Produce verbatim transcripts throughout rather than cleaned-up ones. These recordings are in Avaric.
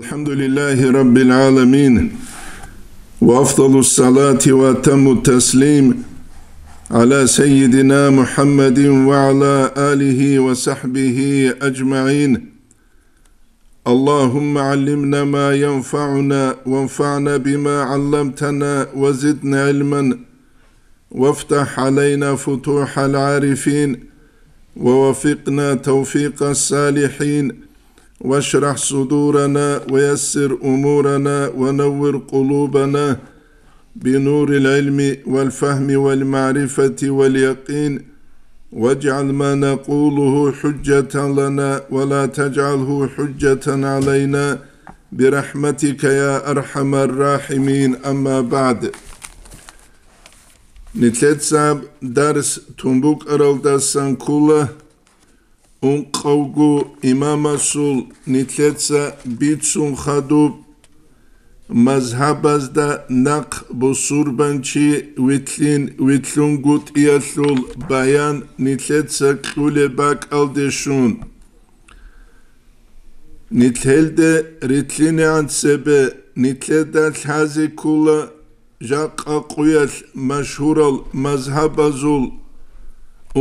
الحمد لله رب العالمين، وأفضل الصلاة وأتم التسليم على سيدنا محمد وعلى آله وصحبه أجمعين. اللهم علمنا ما ينفعنا وانفعنا بما علمتنا وزدنا علما، وافتح علينا فتوح العارفين، ووفقنا توفيق الصالحين، واشرح صدورنا ويسر أمورنا ونور قلوبنا بنور العلم والفهم والمعرفة واليقين، واجعل ما نقوله حجة لنا ولا تجعله حجة علينا برحمتك يا أرحم الراحمين. أما بعد. Нилъеца дарс тун букӀаралдасан ккола ункъавго имамасул нилъеца бицун хадуб мазгьабазда нахъ бусурбанчи вилълъин вилълъунгутӀиялъул баян нилъеца кьулеб бакӀалде щун. Нилъелде рилълъинегӀан цебе нилъеда лъазе ккола жакъа къуялъ машгьурал мазгьабазул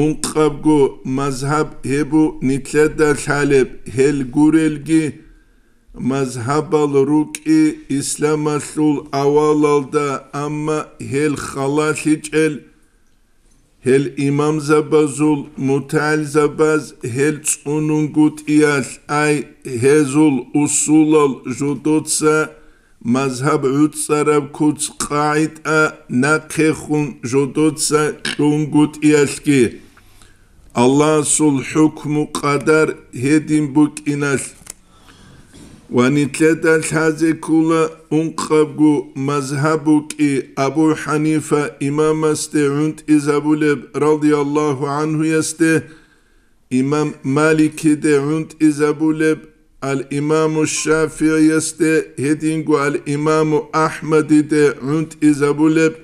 ункъабго мазгьаб гьеб бу нилъеда лъалеб, гьел гурелги, мазгьабал рукӀи исламалъул авалалда, амма гьел халалъичӀел, гьел имамзабазул мутагӀилзабаз гьел цӀунунгутӀиялъ, ай, гьезул усулал жодоца мазгьаб гӀуцӀараб куц-къагӀида нахъехун жодоца кьунгутӀиялъги, Аллагьасул хӀукму-къадар гьедин букӀиналъ. Ва нилъеда лъазе ккола ункъабго мазгьаб букӀи Абу Ханифа имамасде гӀунтӀизабулеб, радияллагьу гӀанхуясде, имам Маликиде гӀунтӀизабулеб, ал-имаму ШафигӀиясде, гьединго ал-имаму Ахмадиде гӀунтӀизабулеб,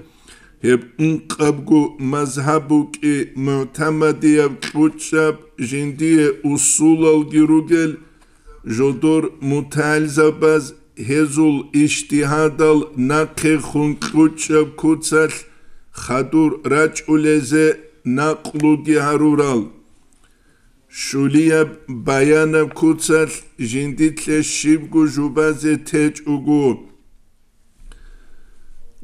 гьеб ункъабго мазгьаб букӀи мугӀтамадияб кьучӀаб, жиндие усулалги ругел, жодор мутагӀилзабаз гьезул ижтигьадал нахъехун кьучӀаб куцалъ хадур рачӀулезе накълуги гьарурал. Щулияб баянаб куцалъ жиндилъе щибго жубазе течӀого.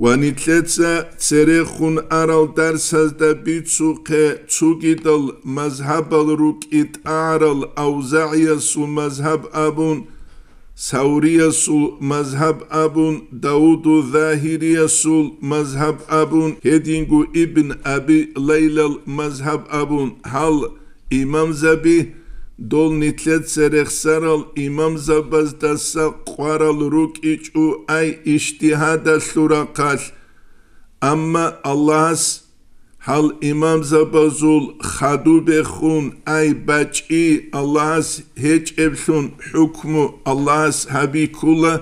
Ва нилъеца церехун арал дарсазда бицухъе цогидал мазгьабал рукӀи тӀагӀарал, АвзагӀиясул мазгьаб абун, Савриясул мазгьаб абун, Давуду Загьириясул мазгьаб абун, гьединго Ибн Аби Лайлал мазгьаб абун, гьал имамзаби, дол нилъеца рехсарал имамзабаздаса къварал рукӀичӀо ай ижтигьадалъул рахъалъ. Амма Аллагьас гьал имамзабазул хадубехун ай бачӀи Аллагьас гьечӀеблъун хӀукму Аллагьас гьабиккула,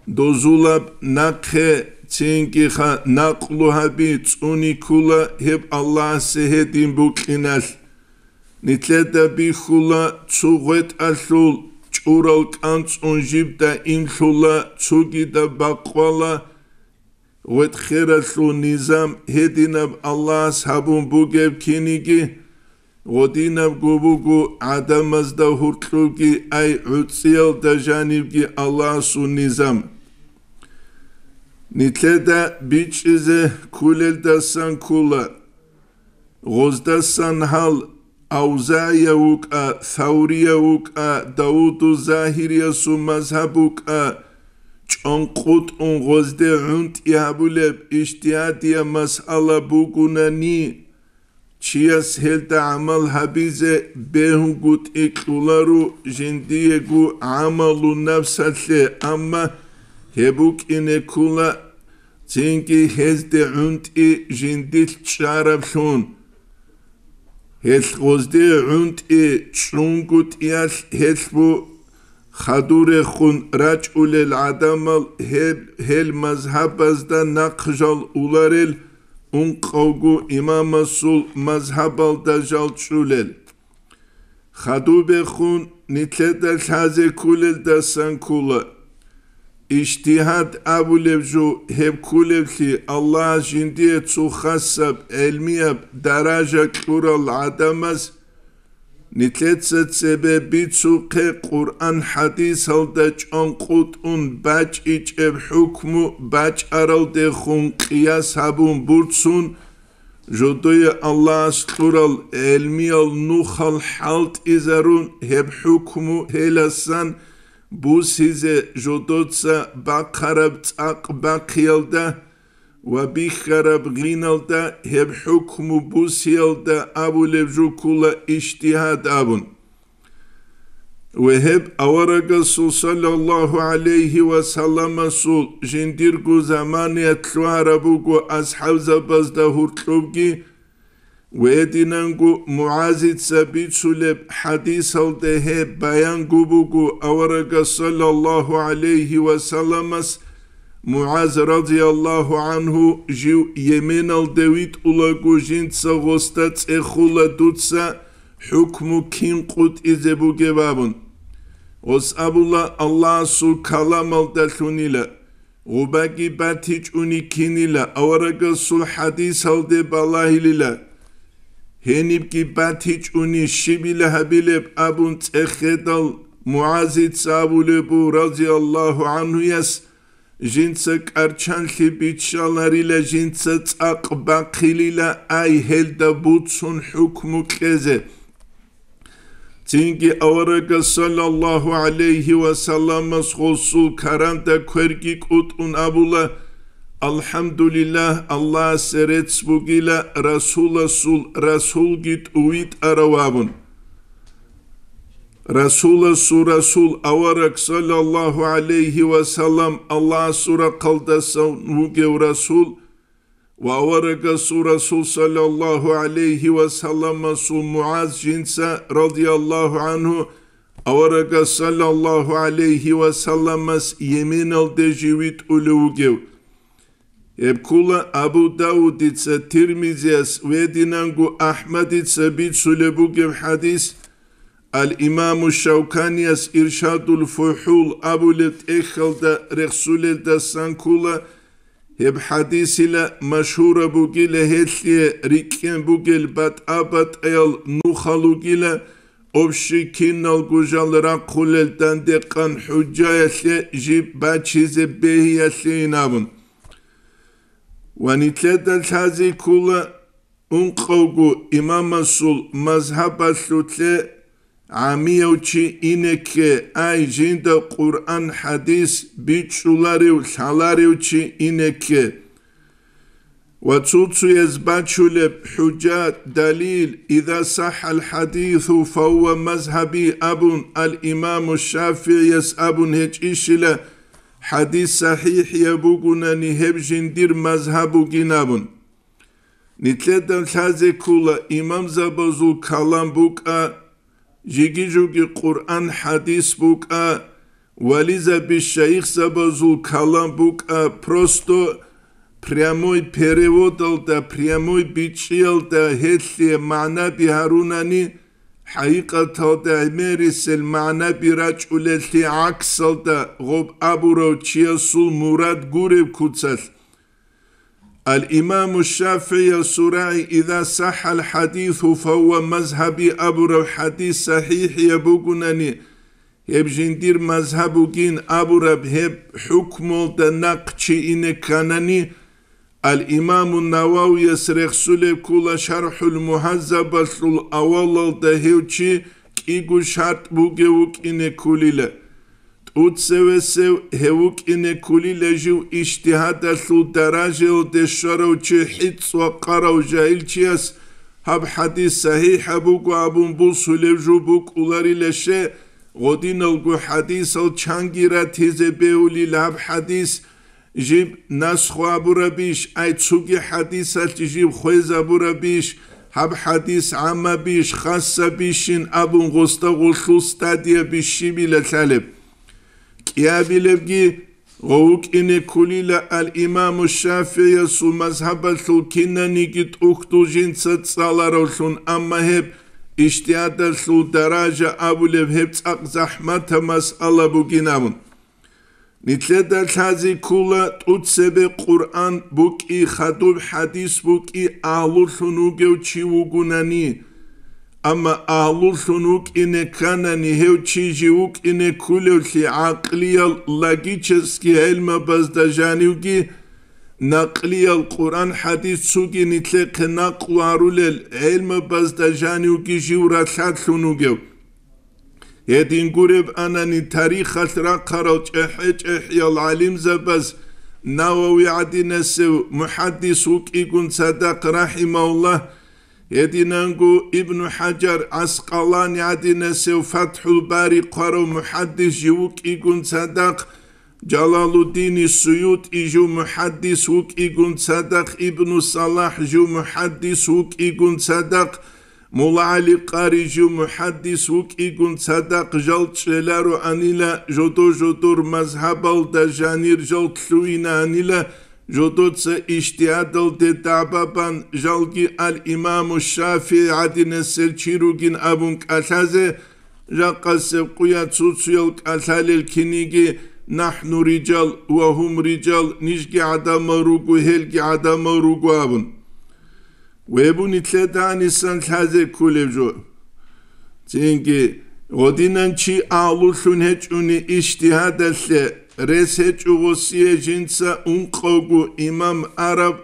дозулаб нахъе цинги ха накълу гьаби цӀуниккула гьеб Аллагьасе гьедин букьиналъ. Нилъеда бихьула цо гъветӀалъул чӀурал кӀанцӀун жиб даимлъула, цогидаб бакъвала гъветӀхералъул низам гьединаб Аллагьас гьабун бугеб киниги, гъодинабго буго гӀадамазда гьуркьубги ай гӀуцӀиялда жанибги Аллагьасул низам. Нилъеда бичӀчӀизе кколелдасан ккола. Гъоздасан гьал АвзагӀияв вукӀа, Саврияв вукӀа, Давуду Загьириясул мазгьаб букӀа, чӀонкъутӀун гъозде гӀунтӀи гьабулеб ижтигьадияб масъала бугунани, чияс гьелда гӀамал гьабизе бегьунгутӀи кьоларо жиндиего гӀамалу нафсалъе, амма гьеб букӀине ккола цинги гьезде гӀунтӀи жиндилъ чӀараблъун. Гьелъ гъозде гӀунтӀи чӀунгутӀиялъ гьелъ бу хадурехун рачӀулел гӀадамал гьел, гьел мазгьабазда нахъ жал уларел, ункъавго имамасул мазгьабалда жал чӀулел. Хадубехун нилъеда лъазе кколелдасан ккола. Ижтигьад абулеб жо гьеб кколеблъи, Аллагьас жиндие цо хасаб гӀелмияб даража кьурал гӀадамаз нилъеца цебе бицухъе Къуръан-хӀадисалда чӀванкъутӀун бачӀичӀеб хӀукму бачӀаралдехун къияс гьабун бурцун, жодое Аллагьас кьурал гӀелмиял нухал хӀалтӀизарун, гьеб хӀукму гьеласан бусизе жодоца бахъараб цӀакъ бахъиялда ва бихьараб гъиналда гьеб хӀукму бусиялда абулеб жо ккола ижтигьад абун. Ва гьеб аварагасул саллаллагьу гӀалайгьи ва салламасул жиндирго заманиялъ лъугьараб буго асхӀабзабазда гьоркьобги, ва гьединанго МугӀазица бицулеб хӀадисалда гьеб баянго буго аварагас саллаллагьу гӀалайгьи ва салламас МугӀаз радияллагьу гӀангьу жив Йеменалде витӀулаго жинца гъосда цӀехула дуца хӀукму кин къутӀизе бугеб абун. Гъос абула Аллагьасул каламалдалъунила, гъубаги батичӀуни кинила, аварагасул хӀадисалде балагьилила. Гьенибги батичӀуни щибила гьабилеб абун цӀехедал МугӀазица абулеб бу радияллагьу гӀангьуяс, жинца кӀарчанлъи биччаларила, жинца цӀакъ бахъилила, ай, гьелда буцун хӀукму кьезе. Цинги аварагас саллаллагьу гӀалайгьи ва салламас гъосул каранда кверги кӀутӀун абула: «АлхӀамдулиллагь, Аллагьасе рецц бугила, Расуласул Расулги тӀувитӀарав», – абун. Расуласул Расул авараг саллаллагьу гӀалайгьи ва саллам Аллагьасул рахъалдасан вугев Расул, ва аварагасул Расул саллаллагьу гӀалайгьи ва салламасул МугӀаз жинца радияллагьу гӀангьу аварагас саллаллагьу гӀалайгьи ва салламас Йеменалде жив витӀулев вугев. Гьеб ккола Абу Давудица, Тирмизияс ва гьединанго АхӀмадица бицулеб бугеб хӀадис, Ал-Имаму Шавканияс Иршадул ФухӀул абулеб тӀехьалда рехсулелдасан ккола, гьеб хӀадисила машгьураб бугила, гьелъие рикӀкӀен бугел батӀа-батӀаял нухал ругила, общий киналго жал рахъулел дандекъан хӀужаялъе жиб бачизе бегьиялъейин абун. Ва нилъеда лъазе ккола ункъавго имамасул мазгьабалъулъе гӀамияв чи ине кке, ай, жинда Къуръан-хӀадис бичӀчӀуларев, лъаларев чи ине кке. Ва цо-цояз бачулеб хӀужа, далил: «Иза сахӀал хӀадису, фагьува мазгьаби», – абун, ал-Имаму ШафигӀияс абун гьечӀищила, хӀадис сахӀихӀияб бугунани, гьеб жиндир мазгьаб бугин абун. Нилъеда лъазе ккола имамзабазул калам букӀа, жиги-жуги Къуръан-хӀадис букӀа, вализаби шайихзабазул калам букӀа, просто прямой переводалда, прямой бичӀчӀиялда гьелъие магӀнаби гьарунани, хӀакъикъаталда гӀемерисел магӀнаби рачӀулелъи гӀаксалда гъоб абурав чиясул мурад гуреб куцалъ. Ал-Имаму ШафигӀиясул рагӀи: «Иза сахӀал хӀадису, фагьува мазгьаби», – абураб хӀадис сахӀихӀияб бугунани, гьеб жиндир мазгьаб бугин абураб гьеб хӀукмуялда нахъ чи ине кканани, ал-Имаму Нававияс рехсулеб ккола ШархӀул Мугьаззабалъул авалалда гьев чи кӀиго шартӀ бугев вукӀине кколила. ТӀуцевесев гьев вукӀине кколила жив ижтигьадалъул даражаялде щварав чи хӀицӀ ва къарав жагьилчияс гьаб хӀадис сахӀихӀаб буго абун бусулев жо букӀуларила ще, гъодиналго хӀадисал чанги ратизе бегьулил гьаб хӀадис, жиб насху абурабищ, ай цоги хӀадисалъ жиб хвезабурабищ, гьаб хӀадис гӀаммабищ, хасабищин абун гъосда гъолъул стадия бищибила лъалеб. КӀиабилебги, гъов вукӀине кколила ал-Имаму ШафигӀиясул мазгьабалъул кинаниги тӀухьдул жинца цӀаларавлъун, амма гьеб ижтигьадалъул даража абулеб гьеб цӀакъ захӀматаб масъала бугин абун. Нилъеда лъазе ккола тӀоцебе Къуръан букӀи, хадуб хӀадис букӀи, агьлулъун вугев чи вугунани. Амма агьлулъун вукӀине кканани, гьев чи жив вукӀине кколевлъи гӀакълиял, логический гӀелмабазда жанивги, накълиял, Къуръан-хӀадис цоги нилъехъе накълу гьарулел гӀелмабазда жанивги жив ралъадлъун вугев. Гьедин гуреб анани, тарихалъ рахъарал чӀехӀе-чӀехӀиял гӀалимзабаз, Навави гӀадинасев мухӀаддис вукӀигун цадахъ, рахӀимагьуллагь, гьединанго Ибну ХӀажар ГӀаскъалани гӀадинасев ФатхӀул Бари хъварав мухӀаддис жив вукӀигун цадахъ, Жалалуддини СуютӀи жив мухӀаддис вукӀигун цадахъ, Ибну СалахӀ жив мухӀаддис вукӀигун цадахъ, Мулла ГӀали Къари жив мухӀаддис вукӀигун цадахъ, жал чӀелароанила, жодо-жодор мазгьабалда жанир жал лъугьинаанила, жодоца ижтигьадалде дагӀба бан, жалги ал-Имаму ШафигӀи гӀадинасел чи ругин абун кӀалъазе, жакъасеб къуя цуцуял кӀалъалел киниги: «НахӀну риджал ва гьум риджал», нижги гӀадамал руго, гьелги гӀадамал руго абун. Вебу нилъеда гьанисан лъазе кколеб жо. Цинги, гъодинан чи агьлулъун гьечӀони ижтигьадалъе рес гьечӀо гъосие, жинца ункъавго имам араб,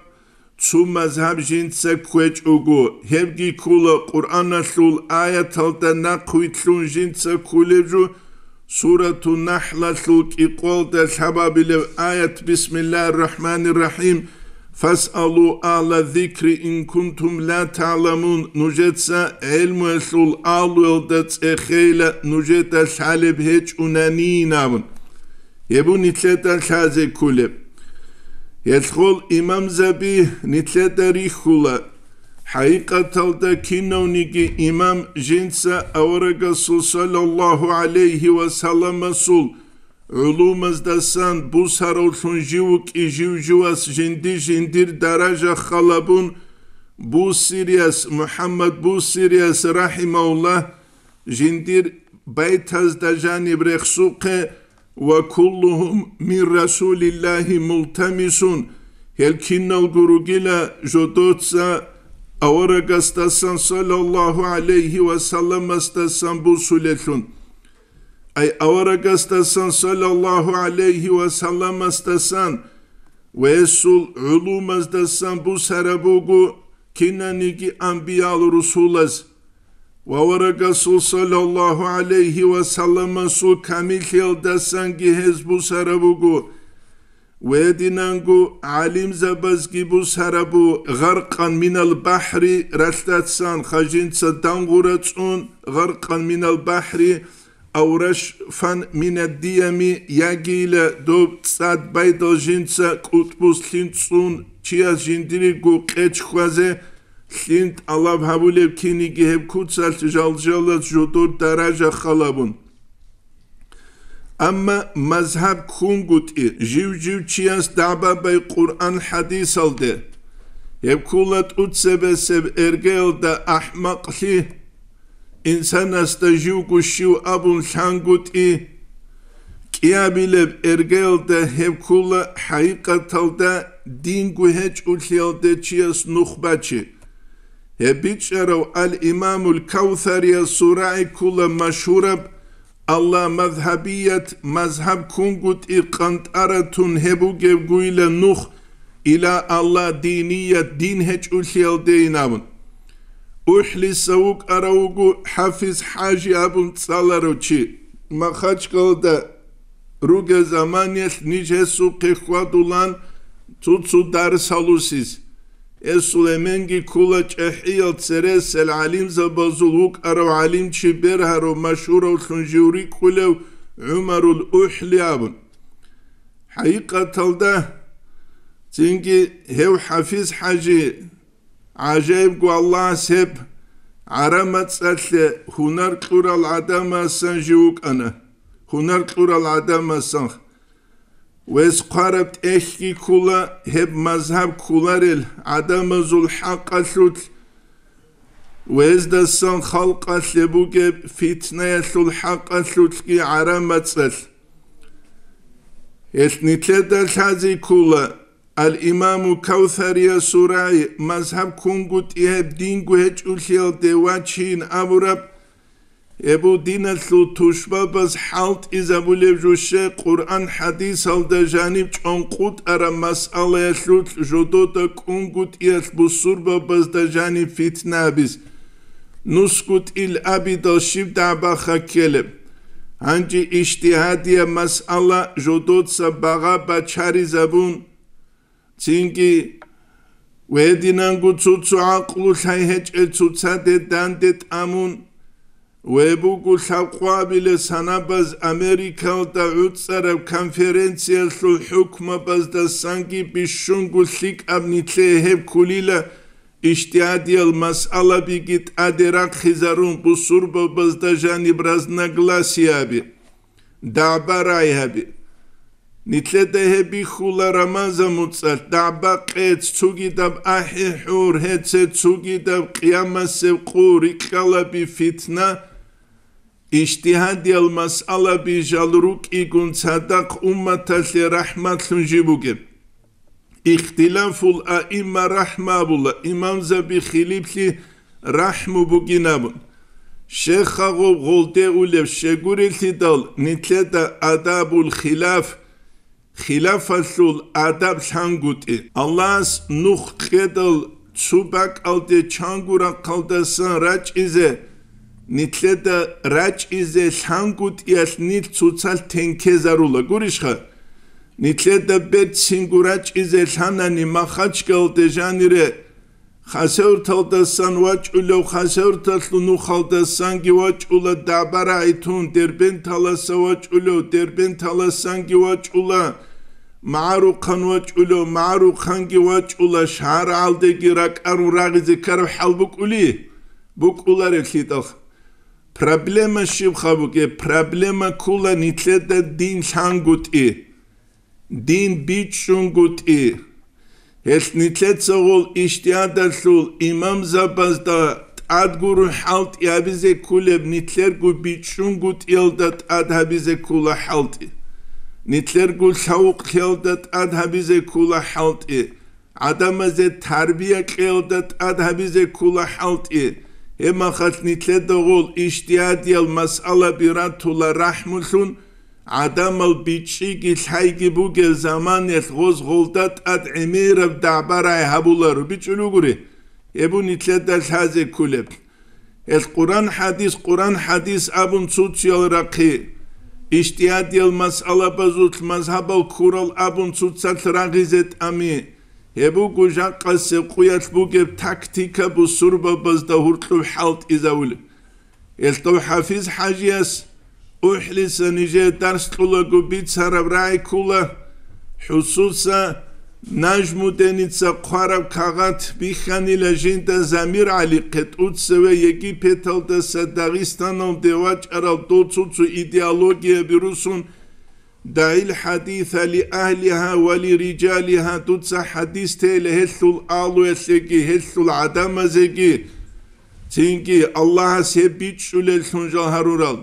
цо мазгьаб жинца кквечӀого, гьебги ккола Къуръаналъул аяталда нахъвилълъун жинца кколеб жо, Сурату НахӀлалъул кӀикъоялда лъабабилеб аят: «Бисмиллагьир рахӀманир рахӀим. Фасъалу агьла зикри ин кунтум ла та'ламун», нужеца гӀелмуялъул агьлуялда цӀехейила, нужеда лъалеб гьечӀунанин абун. Гьеб нилъеда лъазе кколеб. Гьелъул имамзаби нилъеда рихьула. ХӀакъикъаталда кинавниги имам жинца аварагасул саллаллагьу гӀалайгьи ва салламасул гӀулумаздасан бусаравлъун жив вукӀи, жив-живас жинди-жиндир даража халабун, Бусирияс, МухӀаммад Бусирияс, рахӀимагьуллагь, жиндир байтазда жаниб рехсухъе: «Ва куллугьум мин Расулиллагьи мултамисун», гьел киналго ругила жодоца аварагасдасан саллаллагьу гӀалайгьи ва салламасдасан бусулелъун. Ай аварагасдасан саллаллагьу гӀалайгьи ва салламасдасан ва гьесул гӀулумаздасан бусараб буго кинаниги анбиял-русулаз. Ва аварагасул саллаллагьу гӀалайгьи ва салламасул камиллъиялдасанги гьез бусараб буго. Гьединанго гӀалимзабазги бусарабу: «Гъаркъан минал бахӀри», ралъдасан хажинца дангъура цӀун, «Гъаркъан минал бахӀри», «Ав рашфан минад диями», ягийила доб цӀад байдал жинца кӀутӀбус лъим цӀун, чияс жиндирго къеч хьвазе, лъим тӀалаб гьабулеб киниги гьеб куцалъ жал-жалаз жодор даража халабун. Амма мазгьаб ккунгутӀи, жив-жив чияс дагӀба бай Къуръан-хӀадисалде, гьеб ккула тӀуцебесеб эргеялда ахӀмакълъи, инсанасда живго щив абун лъангутӀи, кӀиабилеб эргеялда гьеб ккула хӀакъикъаталда динго гьечӀолъиялде чияс нух бачи. Гьеб бичӀчӀарав ал-Имамул Кавсариясул рагӀи ккула машгьураб: «Алла мазгьабият, мазгьаб ккунгутӀи къантӀаратун гьеб бугебгойила нух, ила Алла диният, дин гьечӀолъиялдейин», абун. УхӀлиса вукӀарав вуго ХӀафиз ХӀажи абун цӀаларав чи. Махачкалда ругел заманиялъ ниж гьесухъе хьвадулан цо-цо дарс гьалусиз. Гьесул эменги ккула чӀехӀиял цересел гӀалимзабазул вукӀарав гӀалимчи бергьарав машгьуравлъун жив рикӀкӀулев ГӀумарул УхӀли абун. ХӀакъикъаталда, цинги гьев ХӀафиз ХӀажи, гӀажаибго Аллагьас гьеб гӀараб мацӀалъе гьунар кьурал гӀадамасан жив вукӀана, гьунар кьурал гӀадамасан. Вес хъвараб тӀехьги ккула гьеб мазгьаб кколарел гӀадамазул хӀакъалъулъ, вездасан халкъалъе бугеб фитнаялъул хӀакъалъулъги гӀараб мацӀалъ. Гьелъ нилъеда лъазе ккола, ал-Имаму Кавсариясул рагӀи, мазгьаб ккунгутӀи гьеб динго гьечӀолъиялде вачин абураб, гьеб диналъул тушбабаз хӀалтӀизабулеб жо щай Къуръан-хӀадисалда жаниб чӀванкъутӀараб масъалаялъулъ жодода кӀунгутӀиялъ бусурбабазда жаниб фитна абиз, нусгутӀил абидал щиб дагӀба-ха ккелеб? Гьанже ижтигьадияб масъала жодоца багъа бачаризабун, цинги гьединанго цо-цо гӀакълу лъай гьечӀел цоцаде данде тӀамун, гьеб буго лъабкъоабилеб санабаз Америкалда гӀуцӀараб конференциялъул хӀукмабаздасанги бищунго лъикӀаб нилъее гьеб кколила, ижтигьадиял масъалабиги тӀаде рахъизарун бусурбабазда жаниб разногласияби, дагӀба-рагӀи гьаби. Нилъеда гьеб бихьула Рамазан муцӀалъ дагӀба-къец, цугидаб ахӀи-хӀур, гьеце цугидаб къиямасеб къу, рикьалаби, фитна. Ижтигьадиял масъалаби жал рукӀигун цадахъ умматалъе рахӀматлъун жиб бугеб. Ихтилафул аимма рахӀма абула, имамзаби хилиплъи рахӀму бугин абун. Щехъа гъоб гъолде улеб щегурелъидал, нилъеда адабул хилаф, хилафалъул адаб лъангутӀи. Аллагьас нух кьедал цо бакӀалде чанго рахъалдасан рачӀизе, нилъеда рачӀизе лъангутӀиялъ нилъ цоцалъ тенкезарула. Гурищха? Нилъеда берцинго рачӀизе лъанани Махачкалде жанире, Хасавюрталдасан вачӀулев Хасавюрталъул нухалдасанги вачӀула дагӀба-рагӀи тун, Дербенталаса вачӀулев Дербенталасанги вачӀула, МагӀарухъан вачӀулев МагӀарухъанги вачӀула, шагьаргӀалдеги ракӀарун рагъизе ккараб хӀал букӀули? БукӀуларевлъидал. Проблема щибха бугеб? Проблема ккола нилъеда дин лъангутӀи, дин бичӀчӀунгутӀи. Гьелъ нилъеца гъол ижтигьадалъул имамзабазда тӀад гуро хӀалтӀи гьабизе кколеб, нилъерго бичӀчӀунгутӀиялда тӀад гьабизе ккола хӀалтӀи, нилъерго лъавукълъиялда тӀад гьабизе ккола хӀалтӀи, гӀадамазе тарбия кьеялда тӀад гьабизе ккола хӀалтӀи. Гьебмахалъ нилъеда гъол ижтигьадиял масъалаби ратула рахӀмулъун, гӀадамал бичӀчӀиги лъайги бугеб заманалъ гъоз гъолда тӀад гӀемераб дагӀба-рагӀи гьабуларо, бичӀчӀулев гури, гьеб нилъеда лъазе кколеб. Гьел Къуран-хӀадис, Къуран-хӀадис абун цо-цоял рахъи, ижтигьадиял масъалабазулъ мазгьабал ккурал абун цоцалъ рагъизе тӀами, гьеб буго жакъасеб къуялъ бугеб тактика бусурбабазда гьуркьуб хӀалтӀизавулеб. Гьелъ дов ХӀафиз-хӀажияс УхӀлиса нижее дарс кьулаго бицараб рагӀи ккола, хӀусуса Нажмуденица хъвараб кагъат бихьанила жинда Замир ГӀалихъе, тӀуцеве Египеталдаса Дагъистаналде вачӀарал дов цо-цо идеологияби русун, «ДагӀил хӀадиса ли агьлиха ва ли рижалиха», дуца хӀадис тейила гьелъул агьлуялъеги, гьелъул гӀадамазеги, цинги Аллагьас гьеб бичӀчӀулеллъун жал гьарурал.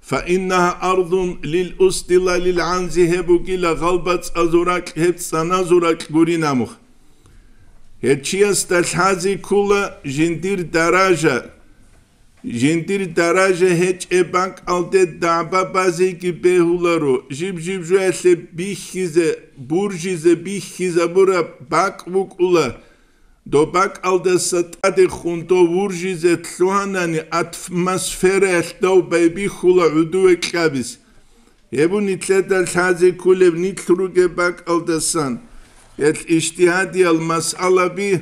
«Фа иннаха ардун лил усдила лил гӀанзи», гьеб бугила гъалбацӀазул ракь, гьеб цӀаназул ракь гурин амух. Гьеб чиясда лъазе ккола жиндир даража, Жиндир даража гьечӀеб бакӀалде дагӀба базеги бегьуларо, жиб-жиб жоялъе бихьизе, буржизе бихьизабураб бакӀ букӀула, доб бакӀалдаса тӀадехун дов вуржизе лъугьанани атмосфераялъ дов байбихьула гӀодове кьабиз. Гьеб нилъеда лъазе кколеб нилъ ругеб бакӀалдасан, гьел ижтигьадиял масъалаби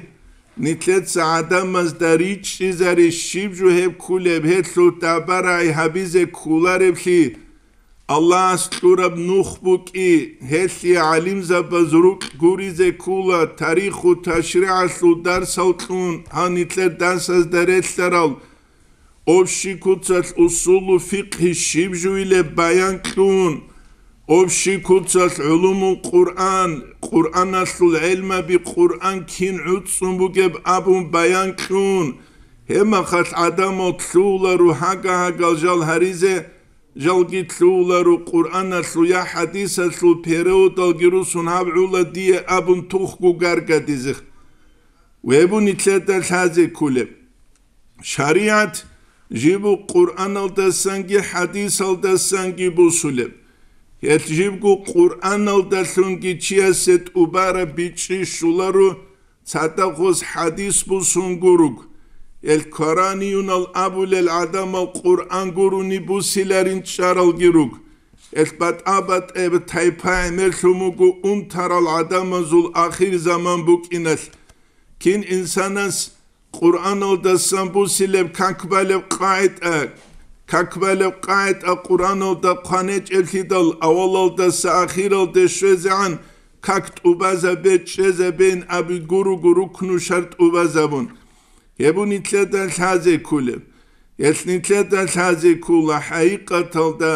нилъеца гӀадамазда ричӀчӀизари щиб жо гьеб кколеб, гьелъул дагӀба-рагӀи гьабизе кколареблъи, Аллагьас кьураб нух букӀи, гьелъие гӀалимзабаз рукь гуризе ккола, тариху ташригӀалъул дарсал кьун, гьанилъер дарсазда релълъарал, Общий куцалъ усулу фикъгьи щиб жуйилеб баян кьун, общий куцалъ гӀулумул Къуръан, Къуръаналъул гӀелмаби, Къуръан кин гӀуцӀцӀун бугеб абун баян кьун, гьебмахалъ гӀадамал лъугьула ругьа-гагьагал жал гьаризе, жалги лъугьуларо Къуръаналъул я хӀадисалъул переводалги русун гьаб гӀула дие абун тухго гаргадизе. Вебу нилъеда лъазе кколеб. ШаригӀат жибу Къуръаналдасанги хӀадисалдасанги бусулеб. Гьелъ жибго Къуръаналдалъунги чиясе тӀубараб бичӀчӀи щоларо, цадахъ гъоз хӀадис бусун гуруг. Гьелъ квараниюнал абулел гӀадамал Къуръан гурони бусиларин чӀаралги руг. Гьелъ батӀа-батӀеб тайпа гӀемерлъун буго унтарал гӀадамазул ахирзаман букӀиналъ. Кин инсанас Къуръаналдасан бусилеб как балеб къагӀида, как балеб къагӀида Къуръаналда хъван гьечӀеблъидал, авалалдаса ахиралде щвезегӀан как тӀубазабе чӀезабейин абиги гуруго рукну шартӀ тӀубазабун. Гьеб нилъеда лъазе кколеб. Гьелъ нилъеда лъазе ккола хӀакъикъаталда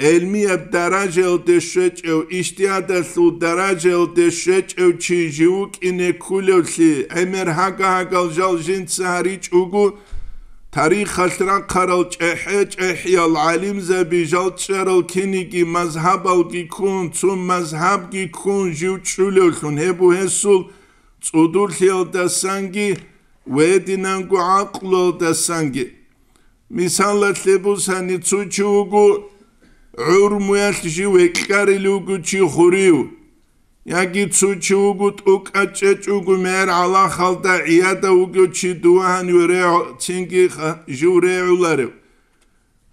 гӀелмияб даражаялде щвечӀев, ижтигьадалъул даражаялде щвечӀев чи жив вукӀине кколевлъи, гӀемер гьага-гьагал жал жинца гьаричӀого, тарихалъ рахъарал чӀехӀе-чӀехӀиял гӀалимзаби жал чӀарал киниги мазгьабалги ккун, цо мазгьабги ккун жив чӀулевлъун, гьеб буго гьесул цӀудурлъиялдасанги ва гьединанго гӀакълуялдасанги. Мисалалъе бусани, цо чи вуго гӀурмуялъ жив векьарилев вуго чи хурив, яги цо чи вуго тӀокӀаб чӀечӀого мегӀер гӀалахалда гӀияда вугев чи дувагьан ве регӀ-, цинги ха-, жив регӀуларев.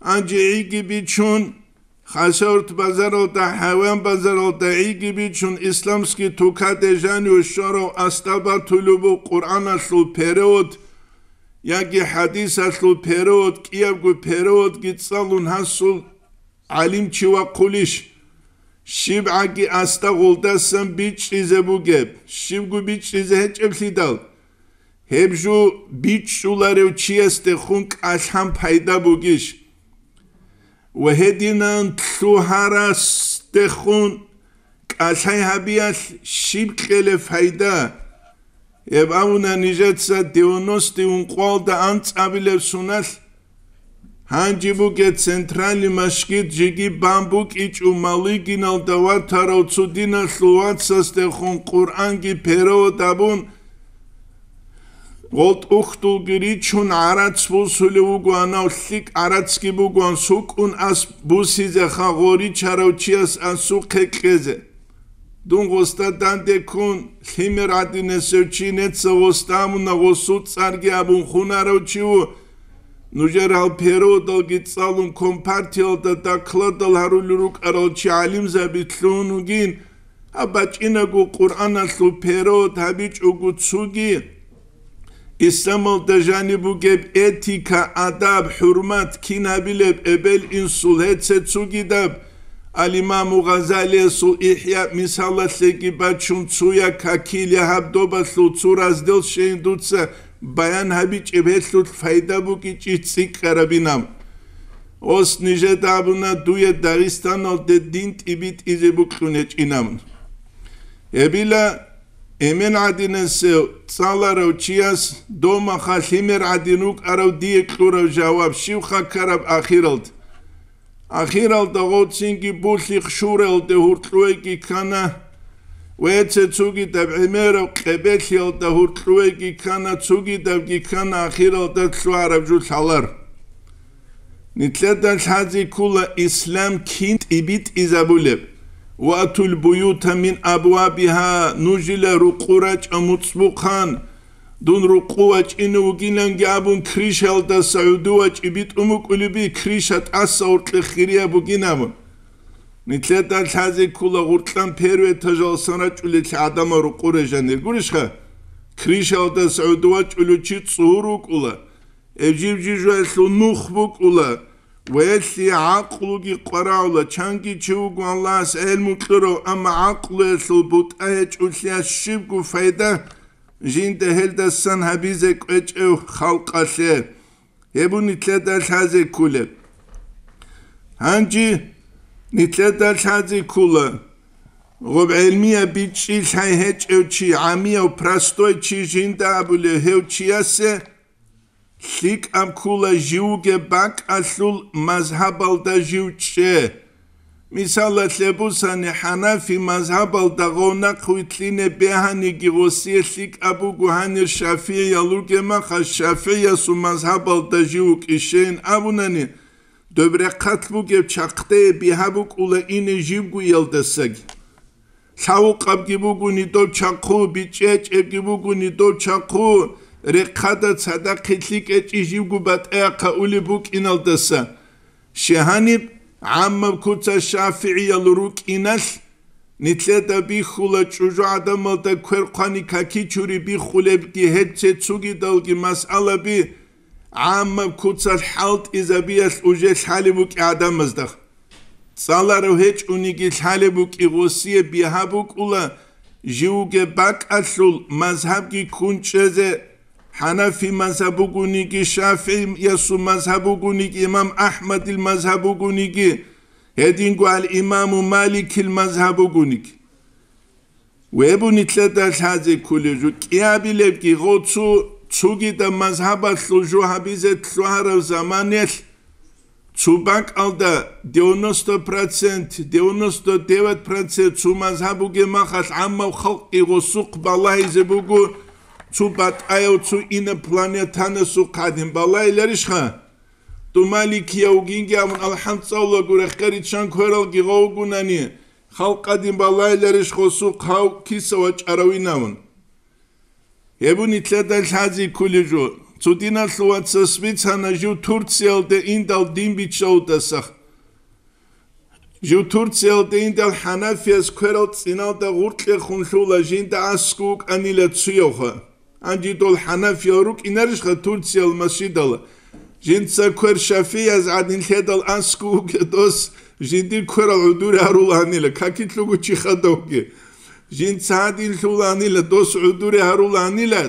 Гьанже гӀиги бичун, Хасавюрт базаралда, хӀайван базаралда гӀиги бичун, исламский тукаде жанив щварав асда батулеб буго Къуръаналъул перевод яги хӀадисалъул перевод, кӀиябго переводги цӀалун гьасул гӀалимчи вахъулищ? ЩибгӀаги асда гъолдасан бичӀчӀизе бугеб, щибго бичӀчӀизе гьечӀеблъидал. Гьеб жо бичӀчӀуларев чиясдехун кӀалъан пайда бугищ? Ва гьединан лъугьарасдехун кӀалъай гьабиялъ щиб кьелеб пайда? Гьеб абуна нижеца девяностые ункъоялда анцӀабилеб соналъ. Гьанже бугеб центральный машгид жеги бан букӀичӀо, Малыгиналда ватарав цо диналъул вацасдехун Къуръанги перевод абун, гъол тӀухьдулги ричун гӀарац бусулев вугоан, гьав лъикӀ гӀарацги бугоан, сукӀун ас бусизеха гъо ричарав чияс асухъе кьезе. Дун гъосда данде ккун, лъимер гӀадинасев чи, неца гъосда амуна, гъосул цӀарги абун хунарав чи ву. Нужер гьал переводалги цӀалун, компартиялда докладал гьарулел рукӀарал чи гӀалимзаби лъун вугин, гьаб бачӀинаго Къуръаналъул перевод гьабичӀого цоги, исламалда жаниб бугеб этика, адаб, хӀурмат кин гьабилеб эбел-инсул гьеце цогидаб, ал-Имаму Гъазалиясул ИхӀя мисалалъеги бачун, цоя какил я гьаб добалъул цо раздел щейин дуца баян гьабичӀеб, гьелъулъ пайда букӀичӀищ цӀикӀкӀарабинаб. Ос нижеда абуна дуе Дагъистаналде дин тӀибитӀизе букьун гьечӀинаб. Гьебила эмен гӀадинасев цӀаларав чияс домаха лъимер гӀадин рукӀарав дие кьурав жаваб щибха ккараб ахиралда? Ахиралда гъоцинги булъихъ шуралде гьуркьуеги ккана, веце цугидаб гӀемерав къебелъиялда гьуркьуеги ккана, цугидабги ккана, ахиралда лъугьараб жо лъалар. Нилъеда лъазе ккола ислам кин тӀибитӀизабулеб. Ватул буюта мин абвабиха, нужила рукъу рачӀа муцӀбухъан. Дун рукъу вачӀине вугиланги абун, крышаялдаса гӀуду вачӀи битӀун букӀулеби, крыша тӀаса гъоркье хирияб бугин абун. Нилъеда лъазе ккола гъуркьан первый этажалсан рачӀулел гӀадамал рукъу режанир гурищха? Крышаялдаса гӀуду вачӀулев чи цӀугьур вукӀула. Гьеб жиб-жиб жоялъул нух букӀула, ва гьелъие гӀакълуги къварагӀула. Чанги чи вуго Аллагьас гӀелму кьурав, амма гӀакълуялъул бутӀа гьечӀолъиялъ щибго пайда жинда гьелдасан гьабизе кӀвечӀев халкъалъе. Гьеб нилъеда лъазе кколеб. Гьанже нилъеда лъазе ккола, гъоб гӀелмияб бичӀчӀи лъай гьечӀев чи, гӀамияв, простой чи жинда абулев гьев чиясе, ЛъикӀаб ккула живго бакӀалъул мазгьабалда жив чӀе. Мисалалъе бусани, хӀанафи мазгьабалда гъов нахъ вилълъине бегьаниги, гъосие лъикӀаб буго гьанир шафигӀиял ругеб махалъ, шафигӀиясул мазгьабалда жив вукӀищейин абунани, доб рахъалъ бугеб чахъдее бигьа букӀула ине живго иялдасаги. Лъавукъабги бугони доб чахъу, бичӀчӀечӀебги бугони доб чахъу, рехъада цадахъе лъикӀечӀи живго батӀаяхъа улеб букӀиналдаса. Щай гьаниб гӀаммаб куца шафигӀиял рукӀиналъ, нилъеда бихьула чӀужу гӀадамалда квер хъвани какичури биххулебги гьеб цецугидалги масъалаби гӀаммаб куцалъ хӀалтӀизабиялъ уже лъалеб букӀи гӀадамазда. ЦӀаларав гьечӀониги лъалеб букӀи гъосие бигьа букӀула, живго бакӀалъул мазгьабги ккун чӀезе, хӀанафи мазгьаб бугониги, шафигӀиясул мазгьаб бугониги, имам АхӀмадил мазгьаб бугониги, гьединго ал-имаму Маликил мазгьаб бугониги. Вебу нилъеда лъазе кколеб жо, кӀиабилебги гъо цо, цогидаб мазгьабалъул жо гьабизе лъугьараб заманалъ, цо бакӀалда девяносто процент, девяносто девять процент цо мазгьаб бугеб махалъ гӀаммаб халкъги гъосухъ балагьизе буго, цо батӀаяв цо инопланетанасухъ гьадин балагьиларищха? Ту маликияв вугинги абун алхӀам цӀалулаго рехгъариччан квералги гъов вугунани, халкъ гьадин балагьиларищ гъосухъ гьав киса вачӀаравинавун? Гьеб нилъеда лъазе кколеб жо. Цо диналъул вацас бицана жив Турциялде индал дин биччалдаса. Жив Турциялде индал хӀанафияс кверал цӀиналда гъуркьехун лъула жинда аскӀов вукӀанила цуявха. Гьанже дол хӀанафиял рукӀинарищха Турциял масжидал? Жинца квер шафияз гӀадин лъедал аскӀов вугев дос жиндир кверал гӀодоре гьарулаанила, какилъуго чи хадавги. Жинца гьадин лъулаанила, дос гӀодоре гьарулаанила.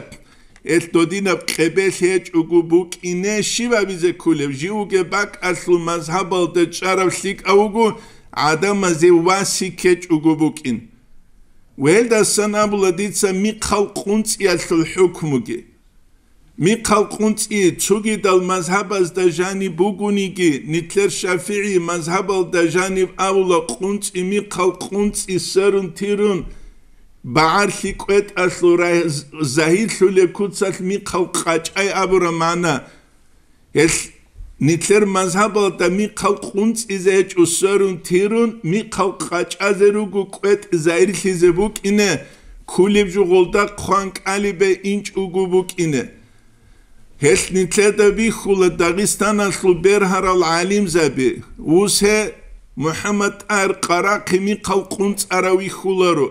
Эл додинаб къебелъ гьечӀого букӀине щиб абизе кколеб? Живго бакӀалъул мазгьабалда чӀараб лъикӀав вуго, гӀадамазе васик гьечӀого букӀин. Велдасан абула дица михъал къунцӀиялъул хӀукмуги. Михъал къунцӀи цогидал мазгьабазда жаниб бугониги, нилъер шафигӀи мазгьабалда жаниб абула къунцӀи михъал къунцӀи сверун-тирун, багӀарлъи кӀветӀалъул рай-, загьирлъулеб куцалъ михъал къачӀай абураб магӀна. Гьелъ нилъер мазгьабалда михъал къунцӀизе гьечӀо сверун-тирун, михъал къачӀазе руго кӀветӀ загьирлъизе букӀине, кколеб жо гъолда хъван кӀалибе инчӀого букӀине. Гьелъ нилъеда бихьула Дагъистаналъул бергьарал гӀалимзаби, вусе МухӀаммад ТӀагьир Къарахъи михъал къунцӀарав вихьуларо.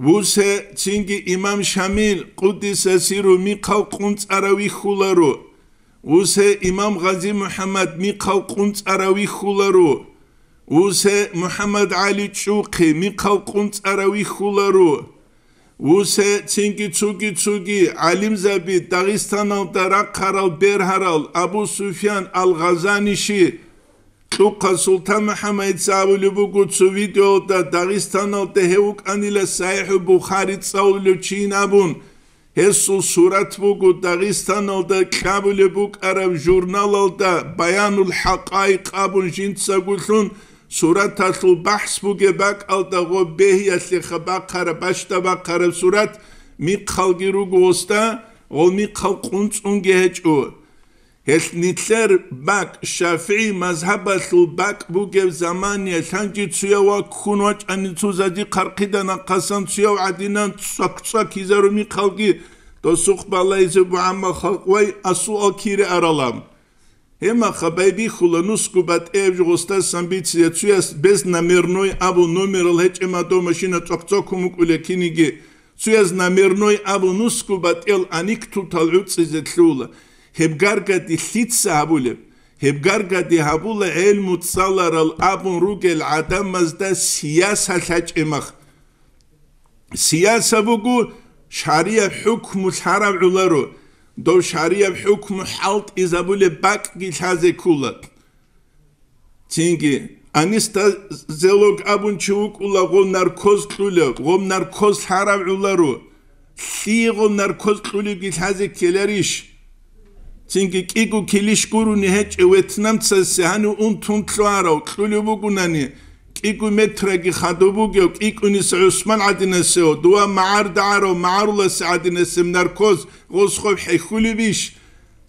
Вусе цинги имам Шамил, къуддиса сирругьу, михъал къунцӀарав вихьуларо. Вусе имам Гъази МухӀаммад михъал къунцӀарав вихьуларо. Вусе МухӀаммад ГӀали ЧӀухъи михъал къунцӀарав вихьуларо. Вусе цинги цуги-цуги гӀалимзаби, Дагъистаналда рахъарал бергьарал Абу Суфьян ал-Гъазаниши, Кьухъа Султан МухӀаммадица абулеб буго цо видеоялда, Дагъистаналда гьев вукӀанила СахӀихӀул Бухари цӀалулев чийин абун. Гьесул сурат буго Дагъистаналда кьабулеб букӀараб журналалда, Баянул ХӀакъаикъ абун жинцагулъун, сураталъул бахӀс бугеб бакӀалда гъоб бегьиялъеха бахъараб, бащда бахъараб сурат, михъалги руго гъосда, гъол михъал къунцӀунги гьечӀо. Гьелъ нилъер бакӀ, ШафигӀи мазгьабалъул бакӀ бугеб заманиялъ гьанже цуяв ваккун вачӀани цо зади хъархъида нахъасан цуяв гӀадинан цӀвак-цӀвакизару михъалги досухъ балайзе бугӀама халкъ вай асуал кире аралам. Гьемаха байбихьула нусгу батӀияб жо гъостасан бицизе, цуяс без номерной абу номерал гьечӀема дов машина цӀвак-цӀвакун букӀуле киниги, цуяз номерной абу нусгу батӀиял аниктутал гӀуцӀизе лъула. Гьеб гаргади лъица гьабулеб? Гьеб гаргади гьабула гӀелму цӀаларал абун ругел гӀадамазда сияса лъачӀемах. Сияса буго шаригӀат хӀукму лъарав гӀоларо, дов шаригӀат хӀукму хӀалтӀизабулеб бакӀги лъазе ккола. Цинги анестезиолог абун чи вукӀула, гъов наркоз кьулев, гъов наркоз лъарав гӀоларо. Лъие гъов наркоз кьулевги лъазе ккеларищ? Цинги кӀиго килищ гурони гьечӀев ветнамцасе гьанив унтун лъугьарав кьулев вугунани, кӀиго метраги хадуб бугев, кӀикӀуниса ГӀусман гӀадинасев, дова магӀар дагӀарав магӀаруласе гӀадинасеб наркоз гъос гъоб хӀехьулебищ?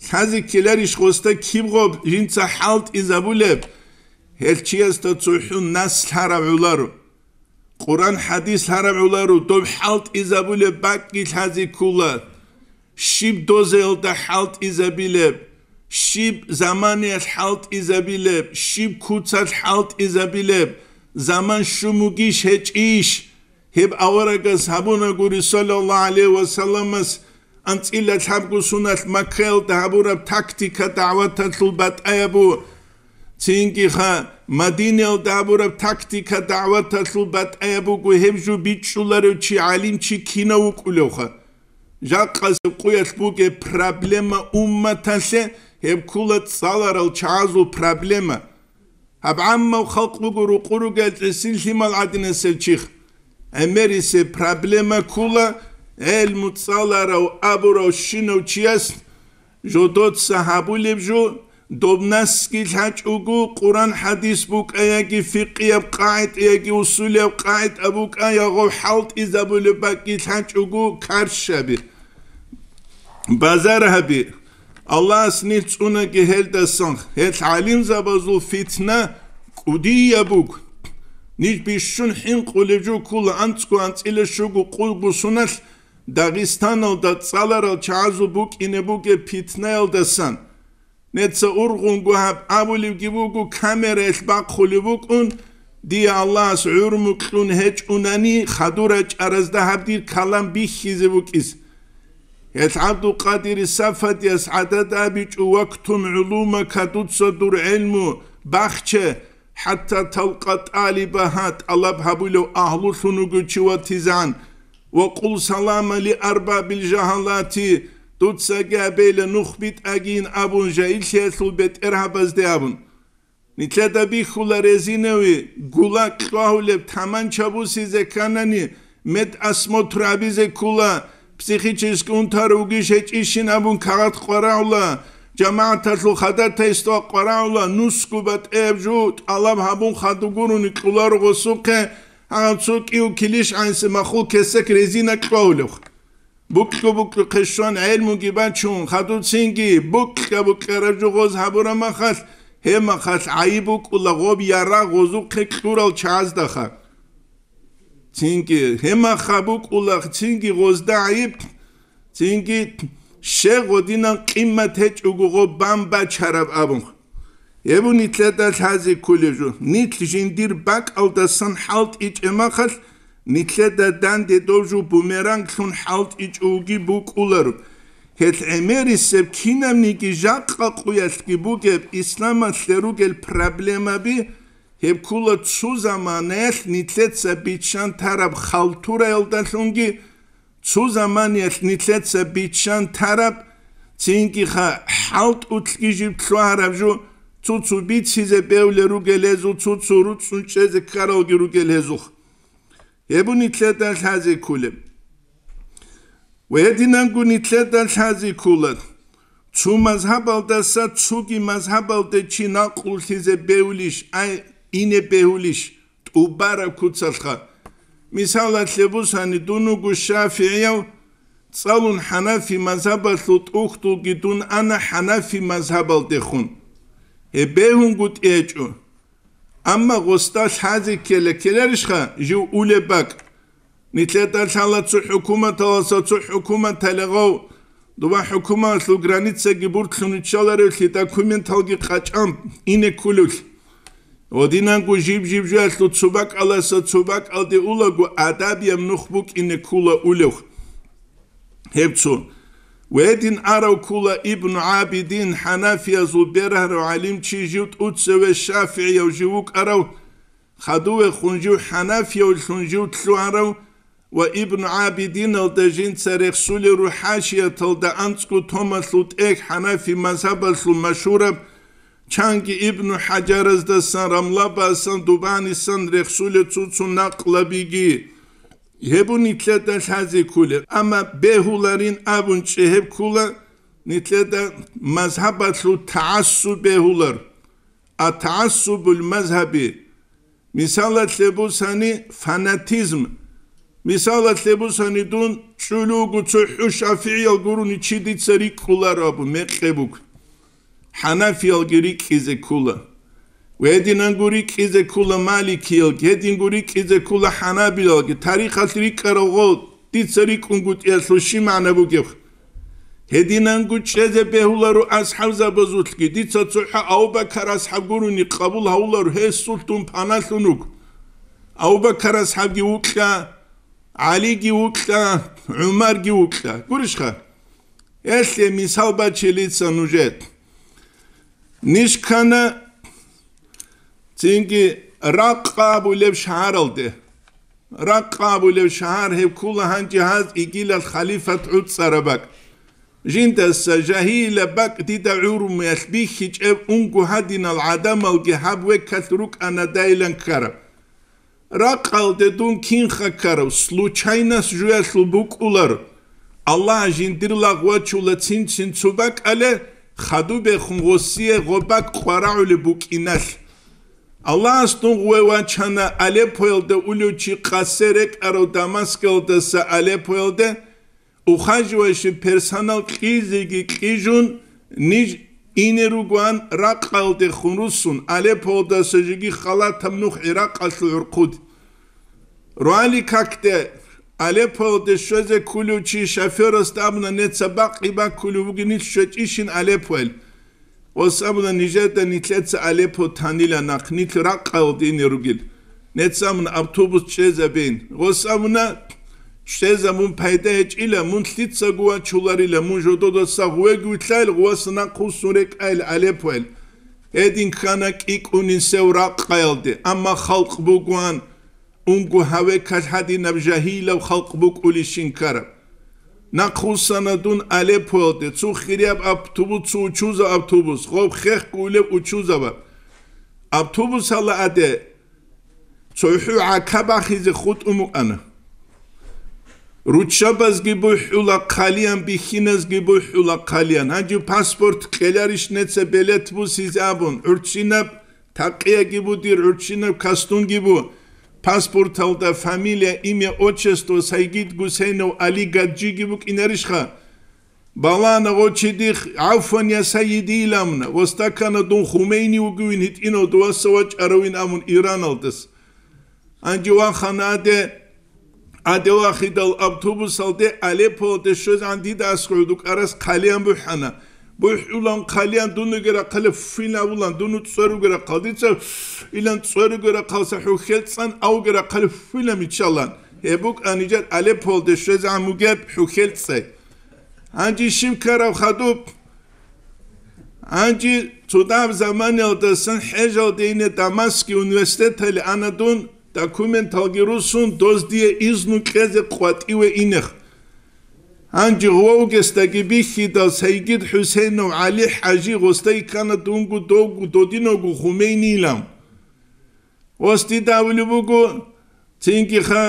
Лъазе ккеларищ гъосда киб гъоб жинца хӀалтӀизабулеб? Гьел чиясда цохӀун нас лъарав гӀоларо. Къуран-хӀадис лъарав гӀоларо, доб хӀалтӀизабулеб бакӀги лъазе ккола. Щиб дозаялда хӀалтӀизабилеб, щиб заманиялъ хӀалтӀизабилеб, щиб куцалъ хӀалтӀизабилеб, заман щун бугищ гьечӀищ? Гьеб аварагас гьабунагури, саллаллагьу гӀалайгьи ва салламас, анцӀила лъабго суналъ Маккаялда гьабураб тактика дагӀваталъул батӀаябу, цинги ха Мадинаялда гьабураб тактика дагӀваталъул батӀаяб буго гьеб жо бичӀчӀуларев чи, гӀалимчи кинав вукӀулевха. Жакъасеб къуялъ бугеб проблема умматалъе, гьеб ккула цӀаларал чагӀазул проблема. Гьаб гӀаммав халкъ буго рукъу ругел гӀисин лъимал гӀадинасев чих. ГӀемерисеб проблема ккула гӀелму цӀаларав абурав щинав чияс жодоца гьабулеб жо, доб насги лъачӀого, Къуран-хӀадис букӀа яги фикъияб къагӀида яги усулияб къагӀида букӀа, ягъов хӀалтӀизабулеб бакӀги лъачӀого, карщаби, базар гьаби. Аллагьас нилъ цӀунаги гьелдасан, гьел гӀалимзабазул фитна кӀудияб буго. Ниж бищун хӀинкъулеб жо ккула анцӀго анцӀила щуго къулгу суналъ Дагъистаналда цӀаларал чагӀазул букӀине бугеб питнаялдасан. Неца ургъунго гьаб абулебги буго, камераялъ бахъулеб букӀун, дие Аллагьас гӀурму кьун гьечӀунани, хадур рачӀаразда гьаб дир калам бихьизе букӀизе. Гьел ГӀабдулкъадири Сафадияс гӀадат абичӀо: «Вактум гӀулумака», дуца дур гӀелму бахче, «хӀатта талкъа тӀалибаха», тӀалаб гьабулев агьлулъун вуго чи ватизан, «ва къул салама ли арбабил жагьалати», дуцаги абейла нух битӀагийин абун, жагьиллъиялъул бетӀергьабазде абун. Нилъеда бихьула резинави гулак кьвагьулеб таманча бусизе кканани, медосмотр абизе ккула, психически унтарав вугищ гьечӀищин абун кагъат къварагӀула, жамагӀаталъул хадатайство къварагӀула, нусго батӀияб жо тӀалаб гьабун хадур гурони кьоларо гъосухъе, гьанав цо кӀиго килищ гӀанси махул кесек резина кьвагьулев. Букьа-букьухъе щван гӀелмуги бачун, хадуцинги букьа-букьараб жо гъоз гьабураб махалъ, гьеб махалъ гӀайиб букӀула гъоб ярагъ гъозухъе кьурал чагӀаздаха. Цинги гьеб маха букӀула цинги гъозда гӀайиб, цинги щай гъодинан къимат гьечӀого гъоб бан бачараб абун. Гьеб нилъеда лъазе кколеб жо. Нилъ жиндир бакӀалдасан хӀалтӀичӀеб махалъ, нилъеда данде доб жо бумеранглъун хӀалтӀичӀого букӀуларо. Гьел гӀемерисеб кинабниги жакъа къуялъги бугеб исламалъе ругел проблемаби, гьеб ккула цо заманаялъ нилъеца биччан тараб халтураялдалъунги, цо заманиялъ нилъеца биччан тараб, цинги-ха хӀалтӀулъги жиб лъугьараб жо, цо-цо бицизе бевлел ругел гьезул, цо-цо руцӀцӀун чӀезе ккаралги ругел гьезул. Гьеб нилъеда лъазе кколеб. Ва гьединанго нилъеда лъазе ккола, цо мазгьабалдаса цоги мазгьабалде чи накълулъизе бевлищ, ай, ине бегьулищ? ТӀубараб куцалъха. Мисалалъе бусани, дун вуго шафигӀияв, цӀалун хӀанафи мазгьабалъул тӀухьдулги дун ана хӀанафи мазгьабалдехун. Гьеб бегьунгутӀи гьечӀо. Амма гъосда лъазе ккела ккеларищха жив улеб бакӀ? Нилъеда лъала цо хӀукуматаласа цо хӀукуматале гъов, дова хӀукуматалъул границаги буртлъун виччаларевлъи документалги къачӀан ине кколевлъи. Гьодинанго жиб-жиб жоялъул цо бакӀаласа цо бакӀалде улаго адабияб нух букӀине ккула улев. Гьеб цо. Гьедин арав ккула Ибну ГӀабидин, хӀанафиязул бергьарав гӀалимчи, жив тӀуцеве шафигӀияв жив вукӀарав, хадувехун жив хӀанафиявлъун жив лъугьарав ва Ибну ГӀабидиналда жинца рехсулел рухӀ хӀашияталда анцӀго томалъул тӀехь хӀанафи мазгьабалъул машгьураб, чанги Ибну ХӀажараздасан, Рамлабасан, Дубанисан рехсулел цо-цо накълабиги. Гьеб нилъеда лъазе кколеб, амма бегьуларин абун чӀегьеб ккула, Нилъеда мазгьабалъул тагӀассуб бегьулар, а тагӀассубул мазгьаби. Мисалалъе бусани, фанатизм. Мисалалъе бусани, дун чӀулугу цохӀо шафигӀиял гурони чи дица рикӀкӀуларо абун мекъи буго. ХӀанафиялги рикӀкӀизе ккула. Гьединанго рикӀкӀизе ккула маликиялги, гьединго рикӀкӀизе ккула хӀанабилалги. Тарихалъ рикӀкӀарал гъо дица рикӀкӀунгутӀиялъул щиб магӀна бугеб? Гьединанго чӀезе бегьуларо асхӀабзабазулъги. Дица цохӀо Абу-Бакар асхӀаб гурони къабул гьавуларо, гьесулъ дун паналъун вуго. Абу-Бакар асхӀабги вукьа, ГӀалиги вукьа, ГӀумарги вукьа. Гурищха? Гьелъе мисал бачилица нужер. Ниж ккана цинги Ракъа абулеб шагьаралде. Ракъа абулеб шагьар гьеб ккула гьанже гьаз игилал халифат гӀуцӀараб бакӀ. Жиндаса жагьилаб бакӀ дида гӀурумиялъ бихьичӀеб унго гьадинал гӀадамалги гьаб векалъ рукӀана дайилан ккараб. Ракъалде дун кинха ккарав, случайность жуялъул букӀулар. Аллагь жиндир лагъ вачула цин-цин цо бакӀале, хадубехун гъосие гъо бакӀ къварагӀулеб букӀиналъ. Аллагьас дун гъуве вачана Алеппоялда улев чи къасе рекӀарав Дамаскалдаса Алеппоялде, ухаживающий персонал кьизеги кьижун, ниж ине ругоан Ракъалдехун руссун, Алеппоялдаса жеги халатаб нух ГӀиракъалъул гӀурхъуде. Руали какде Алеппоялде щвезе ккулев чи шофёрасда абуна, неца бакъи баккулев вугин, нилъ щвечӀищин Алеппоялъ. Гъос абуна, нижеда нилъеца Алеппо танила нахъ, нилъ Ракъалде ине ругел. Неца абуна, автобус чӀезабейин. Гъос абуна, чӀезабун пайда гьечӀила, мун лъицаго вачуларила, мун жододаса гъувеги вилълъайил, гъуваса нахъвуссун рекӀайил Алеппоялъ. Гьедин ккана кӀикӀунин сев Ракъаялде, амма халкъ бугоан, унго гьавекалъ гьадинаб жагьилаб халкъ букӀулищин ккараб. Нахъвуссана дун Алеппоялде, цо хирияб автобус, цо учузаб автобус, гъоб хехго улеб учузабаб. Автобусалда аде цохӀо гӀака бахизе хутӀун букӀана. Руччабазги бухӀула хъалиян, бихьиназги бухӀула хъалиян. Гьанже паспорт кьеларищ неца билет бусизе абун, гӀурччинаб такъияги бу дир, гӀурччинаб костюмги бу. Паспорталда фамилия, имя, отчество Сайгид Гусейнов Али Гаджиги букӀинарищха? Балана гъо чи дихъ, гӀафван, я сайиди, иламуна, гъосда ккана дун Хумейни вугевин гьитӀинав дуваса вачӀаравин абун Ираналдас. Гьанже вахана аде, аде вахидал автобусалде Алеппоялде щвезегӀан дида аскӀов дукӀарас хъалиян бухӀана. БухӀулан хъалиян дун вугеб рахъалъ фуйла абулан, дун цӀер вугеб рахъалъ, дица илан цӀер вугеб рахъалъ хӀухьел цӀан, а вугеб рахъалъ фуйла миччалан. Гьеб букӀана нижер Алеппоялде щвезегӀан бугеб хӀухьел цӀай. Гьанже щиб ккараб хадуб? Гьанже цо дагьаб заманаялдасан хӀежалде ине Дамаские университеталде ана дун, документалги руссун, доз дие изну кьезе къватӀиве инехъ. Гьанже гъовгесдаги бихьидал Сайгид ХӀусейнов ГӀали ХӀажи гъосда ккана дунго довго додинавго Хумейнилан. Гъос дида абулеб буго, цинги ха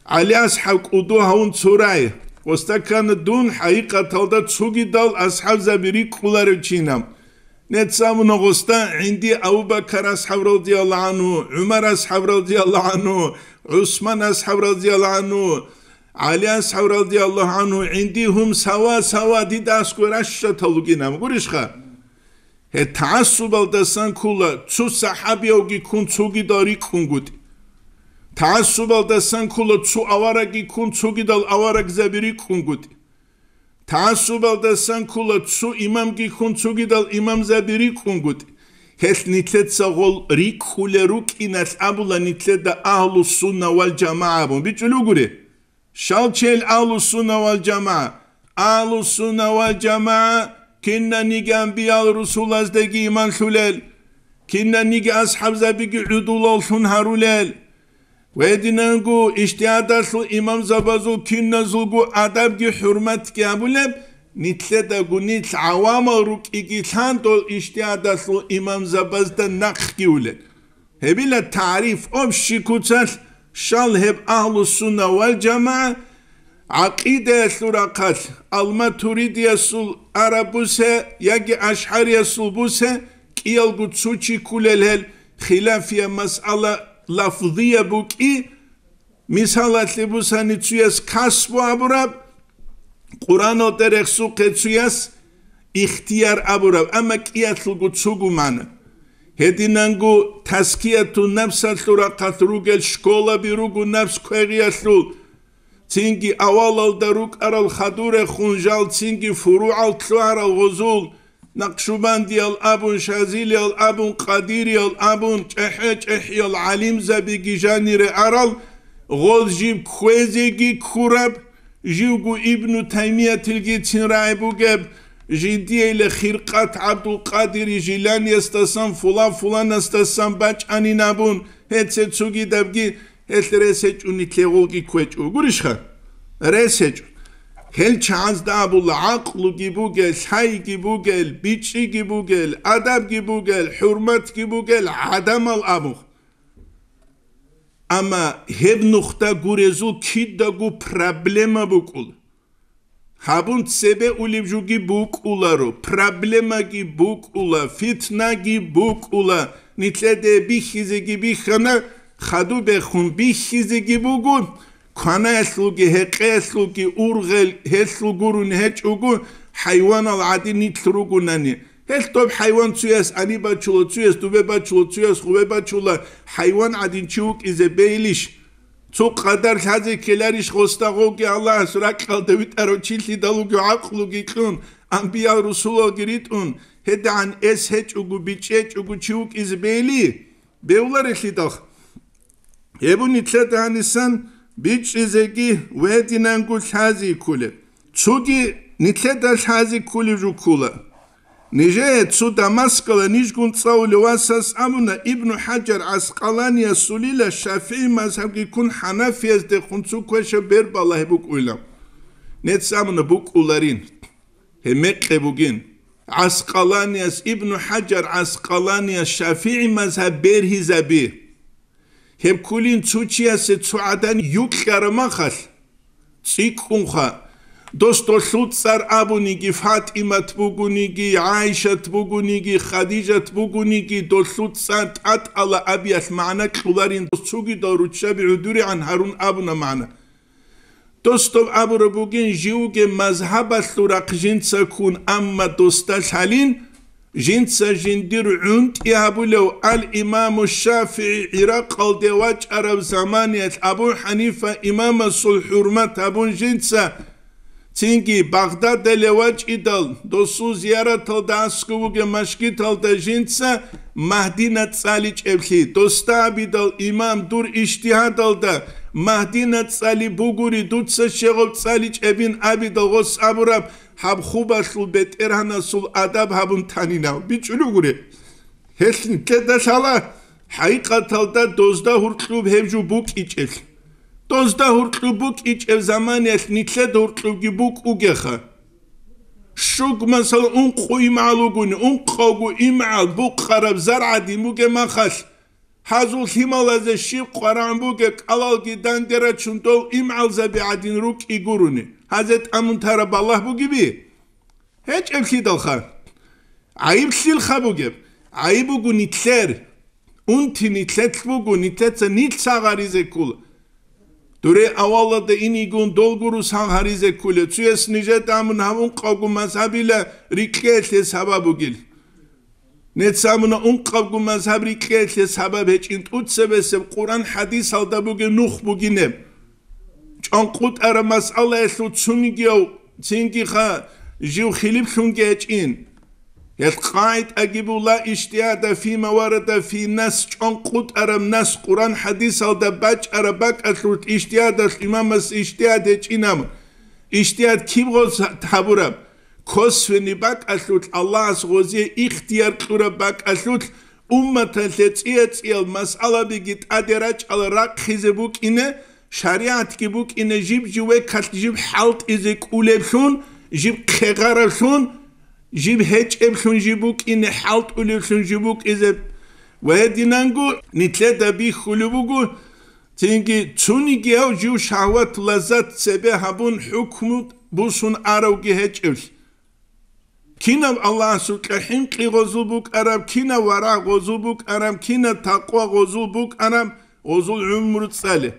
ГӀали асхӀаб кӀуду гьавун цурай. Гъосда ккана дун хӀакъикъаталда цогидал асхӀабзаби рикӀкӀуларев чинаб. Неца абуна гъосда гӀинди Абу-Бакар асхӀаб радияллагьу гӀангьу, ГӀумар асхӀаб радияллагьу гӀангьу, ГӀусман асхӀаб радияллагьу гӀангьу, ГӀали асхӀаб радияллагьу гӀангьу, гӀинди гьум сава-сава дида аскӀове ращатал ругинаб. Гурищха? Гьеб тагӀассубалдасан ккола цо сахӀабиявги ккун цогидал рикӀкӀунгутӀи. ТагӀассубалдасан ккола цо аварагги ккун цогидал аварагзаби рикӀкӀунгутӀи. ТагӀассубалдасан ккола цо имамги ккун цогидал имамзаби рикӀкӀунгутӀи. Гьелъ нилъеца гъол рикӀкӀулел рукӀиналъ абула нилъеда Агьлу-сунна вал-жамагӀа абун. БичӀчӀулев гури? Щал чел Агьлу-сунна вал-жамагӀа? Агьлу-сунна вал-жамагӀа кинаниги анбиял-русулаздаги иман лъулел, кинаниги асхӀабзабиги гӀудулаллъун гьарулел, гьединанго ижтигьадалъул имамзабазул киназулго адабги хӀурматги гьабулеб, нилъедаго нилъ гӀавамал рукӀиги лъан дол ижтигьадалъул имамзабазда нахъги улел. Гьебила тариф, общий куцалъ, щал гьеб Агьлу-сунна вал-жамагӀа гӀакъидаялъул рахъалъ, ал-Матуридиясул араб бусе, яги ашгӀариясул бусе, кӀиялго цо чи кколел гьел, хилафияб масъала лафзияб букӀи, мисалалъе бусани цуяс касбу абураб, Къуръаналда рехсухъе цуяс ихтияр абураб, амма кӀиялъулго цого магӀна. Гьединанго тазкиятун напсалъул рахъалъ ругел школаби руго напс квегъиялъул, цинги авалалда рукӀарал хадурехун жал цинги фуругӀал лъугьарал гъозул, Накъшубандиял абун, Шазилиял абун, Къадириял абун, чӀехӀе-чӀехӀиял гӀалимзабиги жанире арал, гъоз жиб кквезеги ккураб, живго Ибну Таймиятилгицин рагӀи бугеб, жиндиейле Хиркъат ГӀабдулкъадири Жиланиясдасан, фулан-фуланасдасан бачӀанин абун, гьеце цогидабги Гьелъ рес гьечӀо, нилъее гъолги кквечӀо. Гурищха? Рес гьечӀо. Гьел чагӀазда абула, гӀакълуги бугел, лъайги бугел, бичӀчӀиги бугел, адабги бугел, хӀурматги бугел гӀадамал абун. Амма гьеб нухда гурезул кидаго проблема букӀула. Гьабун цебе улеб жуги букӀуларо, проблемаги букӀула, фитнаги букӀула. Нилъеде бихьизеги бихьана, хадубехун бихьизеги буго, кванаялъулги, гьекъеялъулги ургъел гьелъул гурони гьечӀого, хӀайванал гӀадин нилъ ругонани. Гьелъ доб хӀайван цуяс гьаниб бачула, цуяс дубе бачула, цуяс гъубе бачула, хӀайван гӀадин чи вукӀизе бейилищ? Цо къадар лъазе ккеларищ гъосда гъовги Аллагьас ракьалда витӀарав чи лъидал вугев гӀакълуги кьун, анбиял-русулалги ритӀун, гьедигӀан эс гьечӀого, бичӀчӀи гьечӀого чи вукӀизе бейли? Бевларелъидал. Гьеб нилъеда гьанисан бичӀчӀизеги ва гьединанго лъази кколеб. Цоги нилъеда лъази кколеб жо ккола. Нижее цо Дамаскала нижгун цӀалулев васас абуна, Ибну ХӀаджар ГӀаскъаланиясулила ШафигӀи мазгьабги ккун хӀанафияздехун цо квешаб бер балагьи букӀуйилан. Нецц абуна букӀуларин. Гьеб мекъи бугин. ГӀаскъаланияс, Ибну ХӀаджар ГӀаскъаланияс ШафигӀи мазгьаб бергьизаби. Гьеб кколин цо чиясе цо гӀадан юкьараб махалъ, цӀикӀкӀунха, дос долъул цӀар абуниги, ФатӀимат бугониги, ГӀайшат бугониги, Хадижат бугониги, долъул цӀар тӀатӀала абиялъ магӀна кьоларин, дос цогидал руччаби гӀодоригӀан гьарун абуна магӀна. Дос доб абураб бугин, живги мазгьабалъул рахъ жинца ккун, амма досда лъалин, жинца жиндир гӀунтӀи гьабулев ал-Имаму ШафигӀи ГӀиракъалде вачӀараб заманиялъ Абу ХӀанифа имамасул хӀурмат гьабун жинца, цинги Багъдадале вачӀидал, досул зияраталда аскӀов вугев машгиталда жинца Магьдина цӀаличӀеблъи, досда абидал, имам, дур ижтигьадалда Магьдина цӀали бугури, дуца щегъов цӀаличӀебин абидал гъос абураб, гьаб хубалъул бетӀергьанасул адаб гьабун танинав. БичӀчӀулев гуре. Гьелъ нилъеда лъала, хӀакъикъаталда дозда гьуркьуб гьеб жо букӀичӀелъ. Дозда гьуркьуб букӀичӀеб заманиялъ нилъеда гьуркьубги букӀугеха. Щуг, масала, ункъо имгӀал вугони, ункъавго имгӀал букъараб зар гӀадин бугеб махалъ, гьазул лъималазе щиб къварагӀун бугеб кӀалалги данде рачун дол имгӀалзаби гӀадин рукӀи гурони, гьазе тӀамун тараб балагь бугеби? ГьечӀеблъидалха. ГӀайиблъилха бугеб? ГӀайиб буго нилъер. Унти нилъелъ буго, нилъеца нилъ сагъаризе ккола. Дуре авалалда инигун долгуру сагъаризе кколев, цуяс нижеда амун гьаб ункъавго мазгьабила рикьеялъе сабаб бугил. Нецамуна ункъавго мазгьаб рикьеялъе сабаб гьечӀин тӀуцебесеб Къуръан хӀадисалда бугеб нух бугинеб. ЧӀанкъутӀараб масъалаялъул цунигияв цингиха жив хилиплъунги гьечӀин. Гьел къагӀидаги була: ижтигьада фима варада фи нас, чӀанкъутӀараб нас Къуръан хӀадисалда бачӀараб бакӀалъулъ ижтигьадалъ имамас ижтигьад гьечӀинаб. Ижтигьад киб гъоз гьабураб? Косвенный бакӀалъулъ, Аллагьас гъозие ихтияр кьураб бакӀалъулъ, умматалъе цӀия-цӀиял масъалабиги тӀаде рачӀал рахъизе букӀине, шаригӀатги букӀине жиб-жив векалъ жиб хӀалтӀизе кӀулеблъун, жиб хъегъараблъун, жиб гьечӀеблъун жиб букӀине, хӀалтӀулевлъун жиб букӀизе. Ва гьединанго нилъеда бихьулеб буго, цинги цунигияв жив шагьват-лаззат цебе гьабун хӀукму бусун аравги гьечӀеблъи. Кинаб Аллагьасукьа хӀинкъи гъозул букӀараб, кинаб варагӀ гъозул букӀараб, кинаб такъва гъозул букӀараб, гъозул гӀумру цӀале.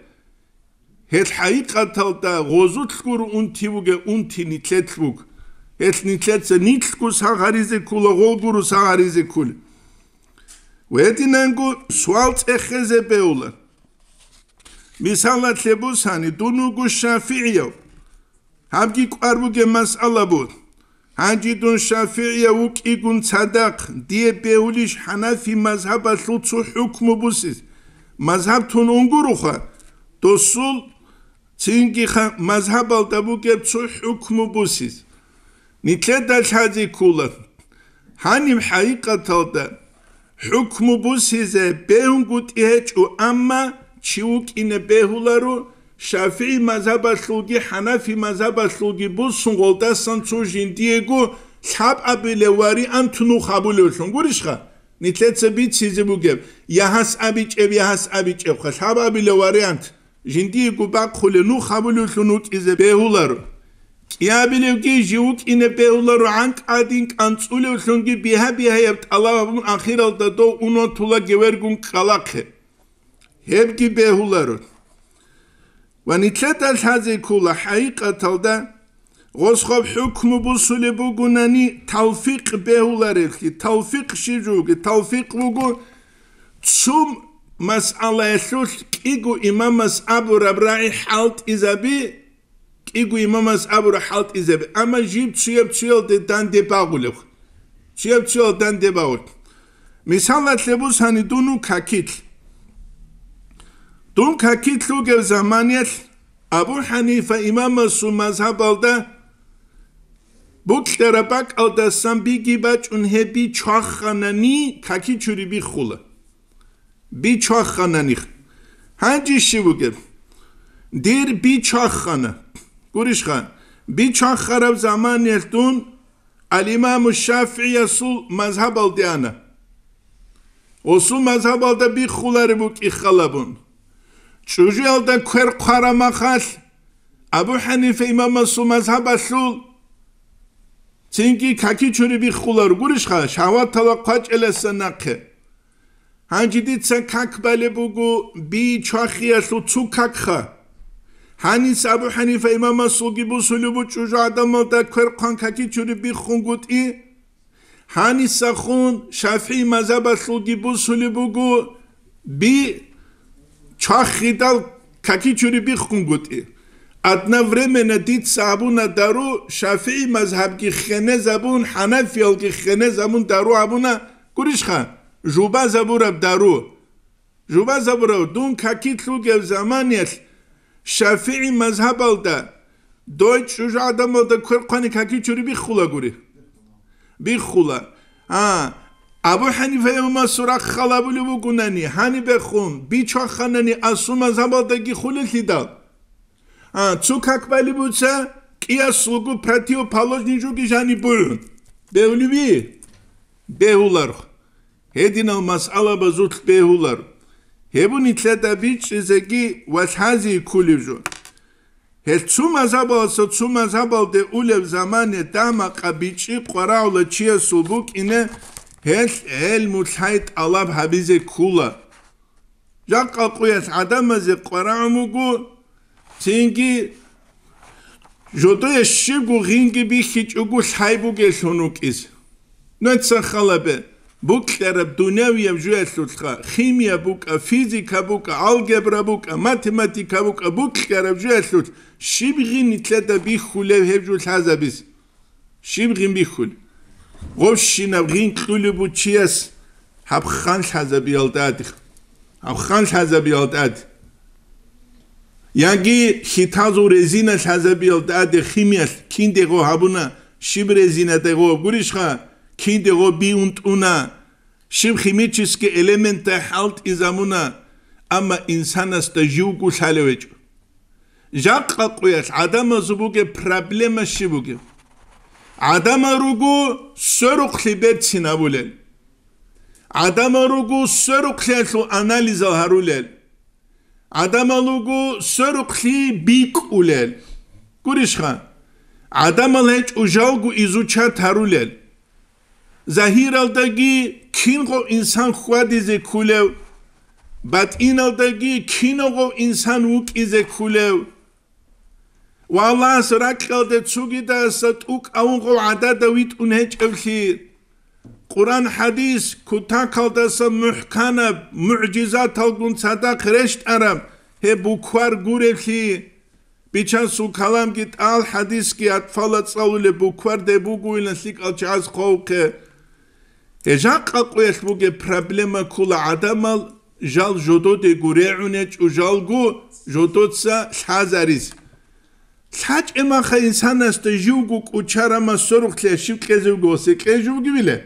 Гьел хӀакъикъаталда гъозулъ гуро унти бугеб, унти нилъелъ буго. Гьелъ нилъеца нилъго сагъаризе ккола, гъол гуро сагъаризе кколеб. Гьединанго суал цӀехезе бегьула. Мисалалъе бусани, дун вуго шафигӀияв. Гьабги кӀвар бугеб масъала буго. Гьанже дун шафигӀияв вукӀигун цадахъ, дие бегьулищ хӀанафи мазгьабалъул цо хӀукму бусиз? Мазгьаб тун унгуроха, досул цинги ха-, мазгьабалда бугеб цо хӀукму бусиз. Нилъеда лъазе ккола. Гьаниб хӀакъикъаталда хӀукму бусизе бегьунгутӀи гьечӀо, амма чи вукӀине бегьуларо, шафигӀи мазгьабалъулги хӀанафи мазгьабалъулги бусун, гъолдасан цо жиндиего лъабабилев вариант нух гьабулевлъун гурищха? Нилъеца бицизе бугеб, я гьас абичӀеб, я гьас абичӀебха, лъабабилев вариант. Жиндиего бахъулев нух гьабулевлъун вукӀизе бегьуларо. КӀиабилевги жив вукӀине бегьуларо, гӀанкӀ гӀадин кӀанцӀулевлъунги бигьа-бигьаяб тӀалаб гьабун, ахиралда дов унотула гевергун ккалахъе. Гьебги бегьуларо. Ва нилъеда лъазе ккола хӀакъикъаталда, гъос гъаб хӀукму бусулеб бугунани, талфикъ бегьуларелъи. Талфикъ щиб жо бугеб? Талфикъ буго, цо масъалаялъулъ кӀиго имамас абураб рагӀи хӀалтӀизаби, кӀиго имамас абураб хӀалтӀизаби, амма жиб цуяб-цуялде данде багъулеб. Цуяб-цуял данде багъулеб. Мисалалъе бусани, дун вуго какилъ. Дун какилъ вугев заманиялъ Абу ХӀанифа имамасул мазгьабалда букьараб бакӀалдасан биги бачӀун гьеб би чваханани какичури биххула. Би чваханани. Гьанже щиб бугеб? Дир би чвахана. Гурищха, би чвахараб заманиялъ дун Ал-Имаму ШафигӀиясул мазгьабалде ана. Гъосул мазгьабалда биххулареб букӀи халабун. ЧӀужуялда квер хъвара махалъ, Абу ХӀанифа имамасул мазгьабалъул цинги какичури биххулар гурищха, шагьватала хъвачӀеласан нахъе. Гьанже дица как балеб буго би чвахиялъул цо какха. Гьаниса Абу ХӀанифа имамасулги бусулеб бу чӀужу гӀадамалда квер хъван какичури биххунгутӀи. Гьанисахун ШафигӀи мазгьабалъулги бусулеб буго би чвахидал какичури биххунгутӀи. Одновременно дица абуна дару, ШафигӀи мазгьабги хенезабун, хӀанафиялги хенезабун дару абуна гурищха, жубазабураб дару. Жубазабурав, дун какилъ вугев заманиялъ ШафигӀи мазгьабалда дой чӀужу гӀадамалда квер хъвани какичури биххула гури. Биххула. А, Абу ХӀанифа имамасул рахъ халабулев вугунани, гьанибехун, би чваханани асул мазгьабалдаги хулелъидал. А, цо как балеб буца, кӀиясулго противоположный жоги жаниб бугӀун. Бегьулеби? Бегьуларх. Гьединал масъалабазулъ бегьулар. Гьеб нилъеда бичӀчӀизеги ва лъази кколеб жо. Гьел цо мазгьабаласа цо мазгьабалде улеб замане дамакъа бичӀчӀи къварагӀула чиясул букӀине, гьел гӀелму лъай тӀалаб гьабизе ккула. Жакъа къуялъ гӀадамазе къварагӀун буго, цинги жодое щибго гъинги бихьичӀого лъай бугелъун вукӀизе. Нуца халабе, букьараб дунявияб жуялъулъха, химия букӀа, физика букӀа, алгебра букӀа, математика букӀа, букьараб жуялъулъ щиб гъин нилъеда бихьулев гьеб жо лъазабизе? Щиб гъин бихьулеб? Гъовщинаб гъин кьулеб бу чияс гьаб хан лъазабиялда тӀаде. Гьаб хан лъазабиялда тӀаде. Яги хьитазул резина лъазабиялда тӀаде химиялъ кинде гъо гьабуна, щиб резина дего гурищха, кинде гъо би унтӀуна, щиб химический элементдай хӀалтӀизабуна, амма инсанасда живго лъалев гьечӀо. Жакъа къуялъ гӀадамазул бугеб проблема щиб бугеб? ГӀадамал руго сверухълъи берцин абулел. ГӀадамал руго сверухълъиялъул анализал гьарулел. ГӀадамал руго сверухълъи бикӀулел. Гурищха? ГӀадамал гьечӀо жалго изучат гьарулел. Загьиралдаги кинго инсан хьвадизе ккулев, батӀиналдаги киного инсан вукӀизе ккулев. Ва Аллагьас ракьалде цугидаса тӀукӀавунго гӀадада витӀун гьечӀевлъи, Къуран-хӀадис кутакалдаса мухӀканаб мугӀжизаталгун цадахъ рещтӀараб гьеб буквар гуревлъи, Бичасул каламги тӀал, хӀадисги атфала цӀалулеб буквар деб бугойилан лъикӀал чагӀаз хъвавухъе. Гьеб жакъа къоялъ бугеб проблема ккола гӀадамал жал жододего регӀунечӀо жалго жодоца лъазаризе. ЛъачӀемаха инсанасда живго кӀучарамас сорухълъи щив кьезевго ва секьежевги виле.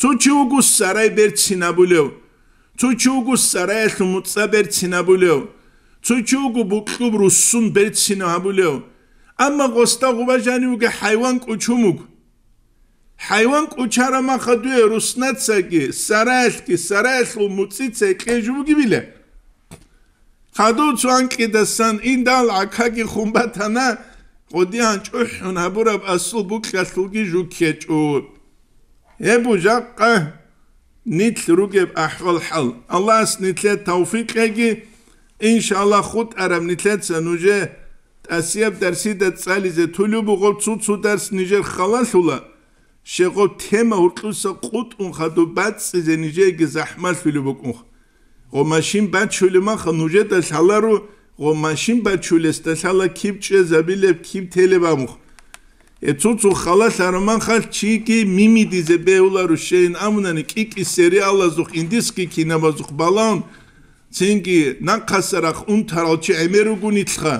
Цо чи вуго сарай берцинабулев, цо чи вуго сараялъул муцӀа берцинабулев, цо чи вуго букьуб руссун берцинабулев. Амма гъосда гъуба жанив вугев хӀайван кӀучун вуго. ХӀайван кӀучарамаха дуе руснацаги, сараялъги, сараялъул муцӀица кьежевги виле. Хадув цо анкьидасан индал гӀакаги хун батана, къодиян чӀухӀун гьабураб асул букьалъулги жукьечӀо. Гьеб бу жакъа нилъ ругеб ахӀвал-хӀал. Аллагьас нилъе тавфикъ кьеги, иншаллагь, хутӀараб нилъеца нужее тӀасияб дарсида цӀализе тулеб буго, цо-цо дарс нижер халалъула, щегъов тема гьуркьуса къутӀун хадуб бацӀцӀизе нижееги захӀмалъулеб букӀунха. Гъо машин бачулеб маха нужеда лъаларо, гъо машин бачулесда лъала киб чӀезабилеб, киб телеб абухъ. Гьеб цо-цо халалъараб махалъ чиги мимидизе бегьуларо, щейин абунани кӀи-кӀи сериалазухъ, индийский кинабазухъ балаун, цинги нахъаса рахъ унтарал чи гӀемер руго нилъха.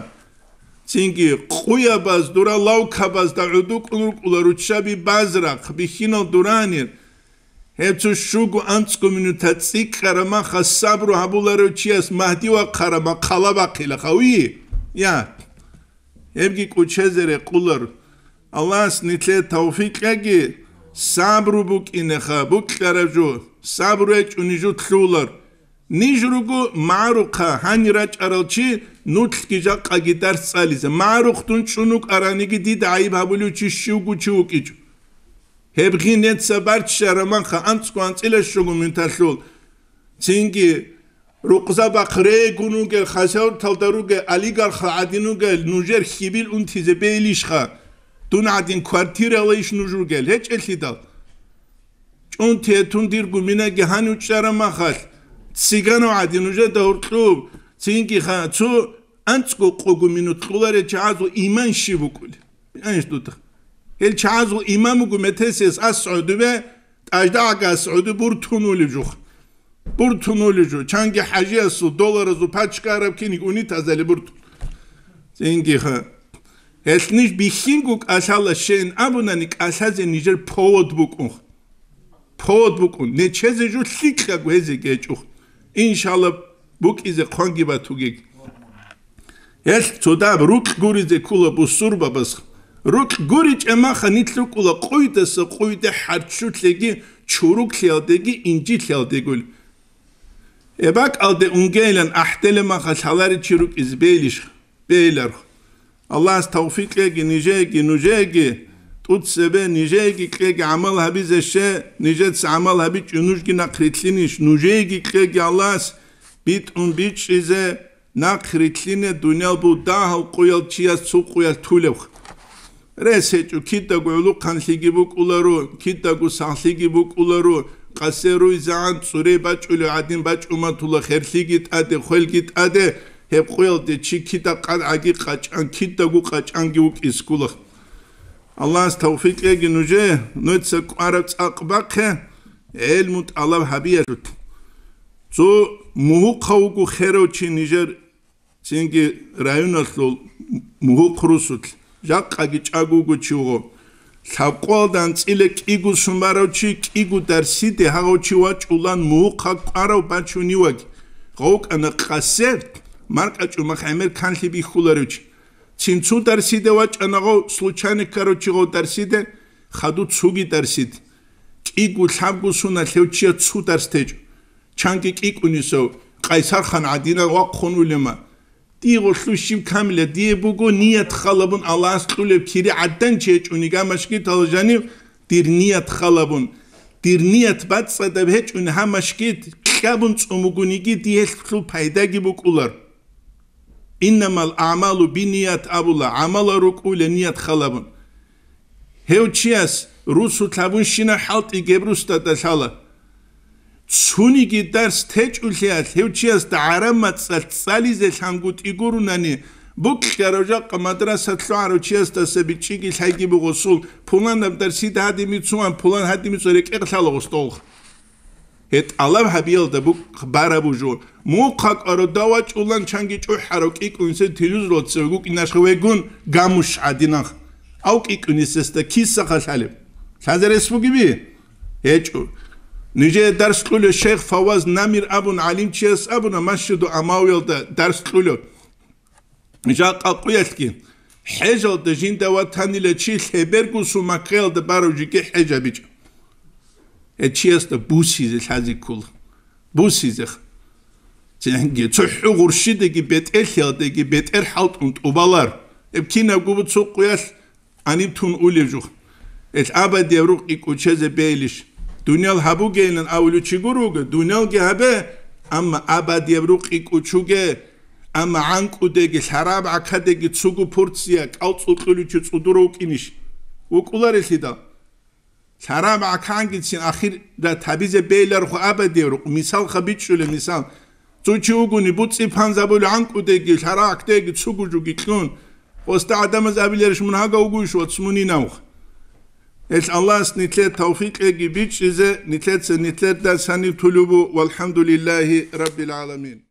Цинги къуябаз, дура лавкабазда гӀодукӀун рукӀула руччаби базрахъ, бихьинал дуранир. Гьеб цо щуго анцӀго минута цӀикӀкӀараб маха сабру гьабуларев чияс Магьди вахъараб махъала бахъила хавиги? Я. Гьебги кӀучезе рекъулар. Аллагьас нилъее тавфикъ кьеги, сабру букӀинеха, букьараб жо, сабру гьечӀони жо лъулар. Ниж руго магӀарухъа гьанир рачӀарал чи, нуцлъги жакъаги дарс цӀализе. МагӀарухъ дун чӀун вукӀараниги дида гӀайиб гьабулев чи щивго чи вукӀичӀо. Гьеб гъинеца барччараб маха анцӀго анцӀила щуго минуталъул. Цинги рукъзабахъ регун вугел, хасавталда ругел, олигархал гӀадин вугел, нужер хьибил унтизе бейилищха? Дун гӀадин квартиралайищ нуж ругел? ГьечӀелъидал. ЧӀунти гьетун дирго минаги гьанив чӀараб махалъ, цигана гӀадин нужеда гьоркьоб, цинги ха-, цо анцӀго къого минут кьоларел чагӀазул иман щиб букӀулеб? Гьанж дуда. Гьел чагӀазул иман буго метесиялъ ас гӀодубе, тӀаждагӀаги ас гӀодубе буртун улеб жух. Буртун улеб жо. Чанги хӀажиясул долларазул пачка араб киниг унитазали буртун. Цинги ха. Гьелъ ниж бихьинго кӀалъала щейин абунани, кӀалъазе нижер повод букӀун. Повод букӀун. Нечезе жо лъикӀаго гьезе гьечӀухъ. Иншалла, букӀизе хъванги батугеги. Гьелъ цодаб рукь гуризе ккула бусурбабаз. Рукь гуричӀеб маха нилъ рукӀула къуйдаса къуйде хӀарччулъеги, чуруклъиялдеги, инжилъиялдегули. Эбакъалде унгейилан ахӀделеб маха лъаларев чи рукӀизе бейилищ? Бейиларх. Аллагьас тавфикъ кьеги нижееги, нужееги, тӀуцебе нижееги кьеги гӀамал гьабизе, ще нижеца гӀамал гьабичӀо нужги нахърилълъинищ, нужееги кьеги Аллагьас битӀун бичӀчӀизе, нахърилълъине дуниял бу дагьал къуял чияс цо къуялъ тулевха. Рес гьечӀо, кидаго гӀулухъанлъиги букӀуларо, кидаго сахлъиги букӀуларо, къасе руйзагӀан цӀуре бачӀулев гӀадин бачӀуматула херлъиги тӀаде, хвелги тӀаде, гьеб къуялде чи кида къадгӀаги къачӀан, кидаго къачӀанги вукӀизе ккула. Аллагьас тавфикъ кьеги нужее, нуца кӀвараб цӀакъ бахъе, гӀелму тӀалаб гьабиялъул. Цо мугьухъав вуго херав чи нижер Цинги районалъул мугьухъ русулъ, жакъаги чӀаго вуго чи вуго. Лъабкъоялда анцӀила кӀиго сон барав чи, кӀиго дарсиде гьагъав чи вачӀулан мугьухъа кӀварав бачуневаги. ГъовкӀана къасе, маркӀачӀумахъ гӀемер канлъи бихьуларев чи. Цин цо дарсиде вачӀана гъов, случайно ккарав чи гъов дарсиде, хадув цоги дарсиде. КӀиго-лъабго соналъ гьев чияс цо дарс течӀо. Чанги кӀикӀунисав, Къайсархан гӀадинал вахъун улема. Дие гъолъу щиб камила, дие буго ният халабун Аллагьас кьулеб кири гӀаддан чи гьечӀони гамашги тала жанив, Дир ният халабун, дир ният бацӀцӀадаб гьечӀун гьа машгид кьабун цӀумугуниги диялъул пайдаги букӀулар. Иннамал аъмалу биният абула, гӀамалал рукӀула ният халабун. Гьев чияс русу лъабунщина хӀалтӀи гьеб русдада лъала. Цуниги дарс течӀулъиялъ гьев чиясда гӀараб мацӀалъ цӀализе лъангутӀи гурунани, букьарав жакъа мадраса лъугӀарав чиясдаса бичӀчӀиги лъайги бугъусул, пуланаб дарсида гьадин бицуан, пулан гьадин бицуан рекӀекъ лъала гъустолх. Гье, тӀалаб гьабиялда букӀ бараб бужун. Мухъа кӀваро давачӀулан чанги чӀухӀарав кӀикӀунсен телевизорлъа гукӀинашха вегун гамуш гӀадинах. Ав кӀикӀунисесда кисаха лъалеб? Лъазарес бугеби? ГьечӀо. Нижее дарс кьулев шейх Фаваз Намир абун гӀалимчияс абуна, Масжиду Амавиялда дарс кьулев. Жакъа къуялъги, хӀежалда жинда ватанила чи лъебергусун Маккаялда барав жиги хӀеж гьабичӀо. Гье чиясда бусизе лъазе ккола. Бусизеха. Цинги цохӀо гъурщидаги бетӀерлъиялдаги бетӀер хӀалтӀун тӀубалар. Гьеб кинабго буцо къуялъ гьаниб тун улев жух. Ил абадияб рукъи кӀучезе бейилищ? Дуниял гьабугейилан авулев чи гуро вуго, дуниялги гьабе, амма абадияб рукъи кӀучуге, амма гӀанкӀудеги, лъараб гӀакадеги цугу пурция кӀалцӀукьулев чи цӀудурав вукӀинищ? ВукӀуларелъидал. Лъараб гӀакангицин ахират гьабизе бейиларухъ абадияб рукъ. Мисалха бичӀчӀулеб мисал. Цо чи вугони, буцӀи панзабулев гӀанкӀудеги, лъарагӀкдеги цугу жуги кьун. Гъосда гӀадамаз абиларищ, мун гьагав вугойищ вац мунинавха? Гьелъ Аллагьас нилъер тавфикъеги бичӀчӀизе, нилъеца нилъерда санив тулубу, валхӀамдулиллагьи раббил гӀаламин.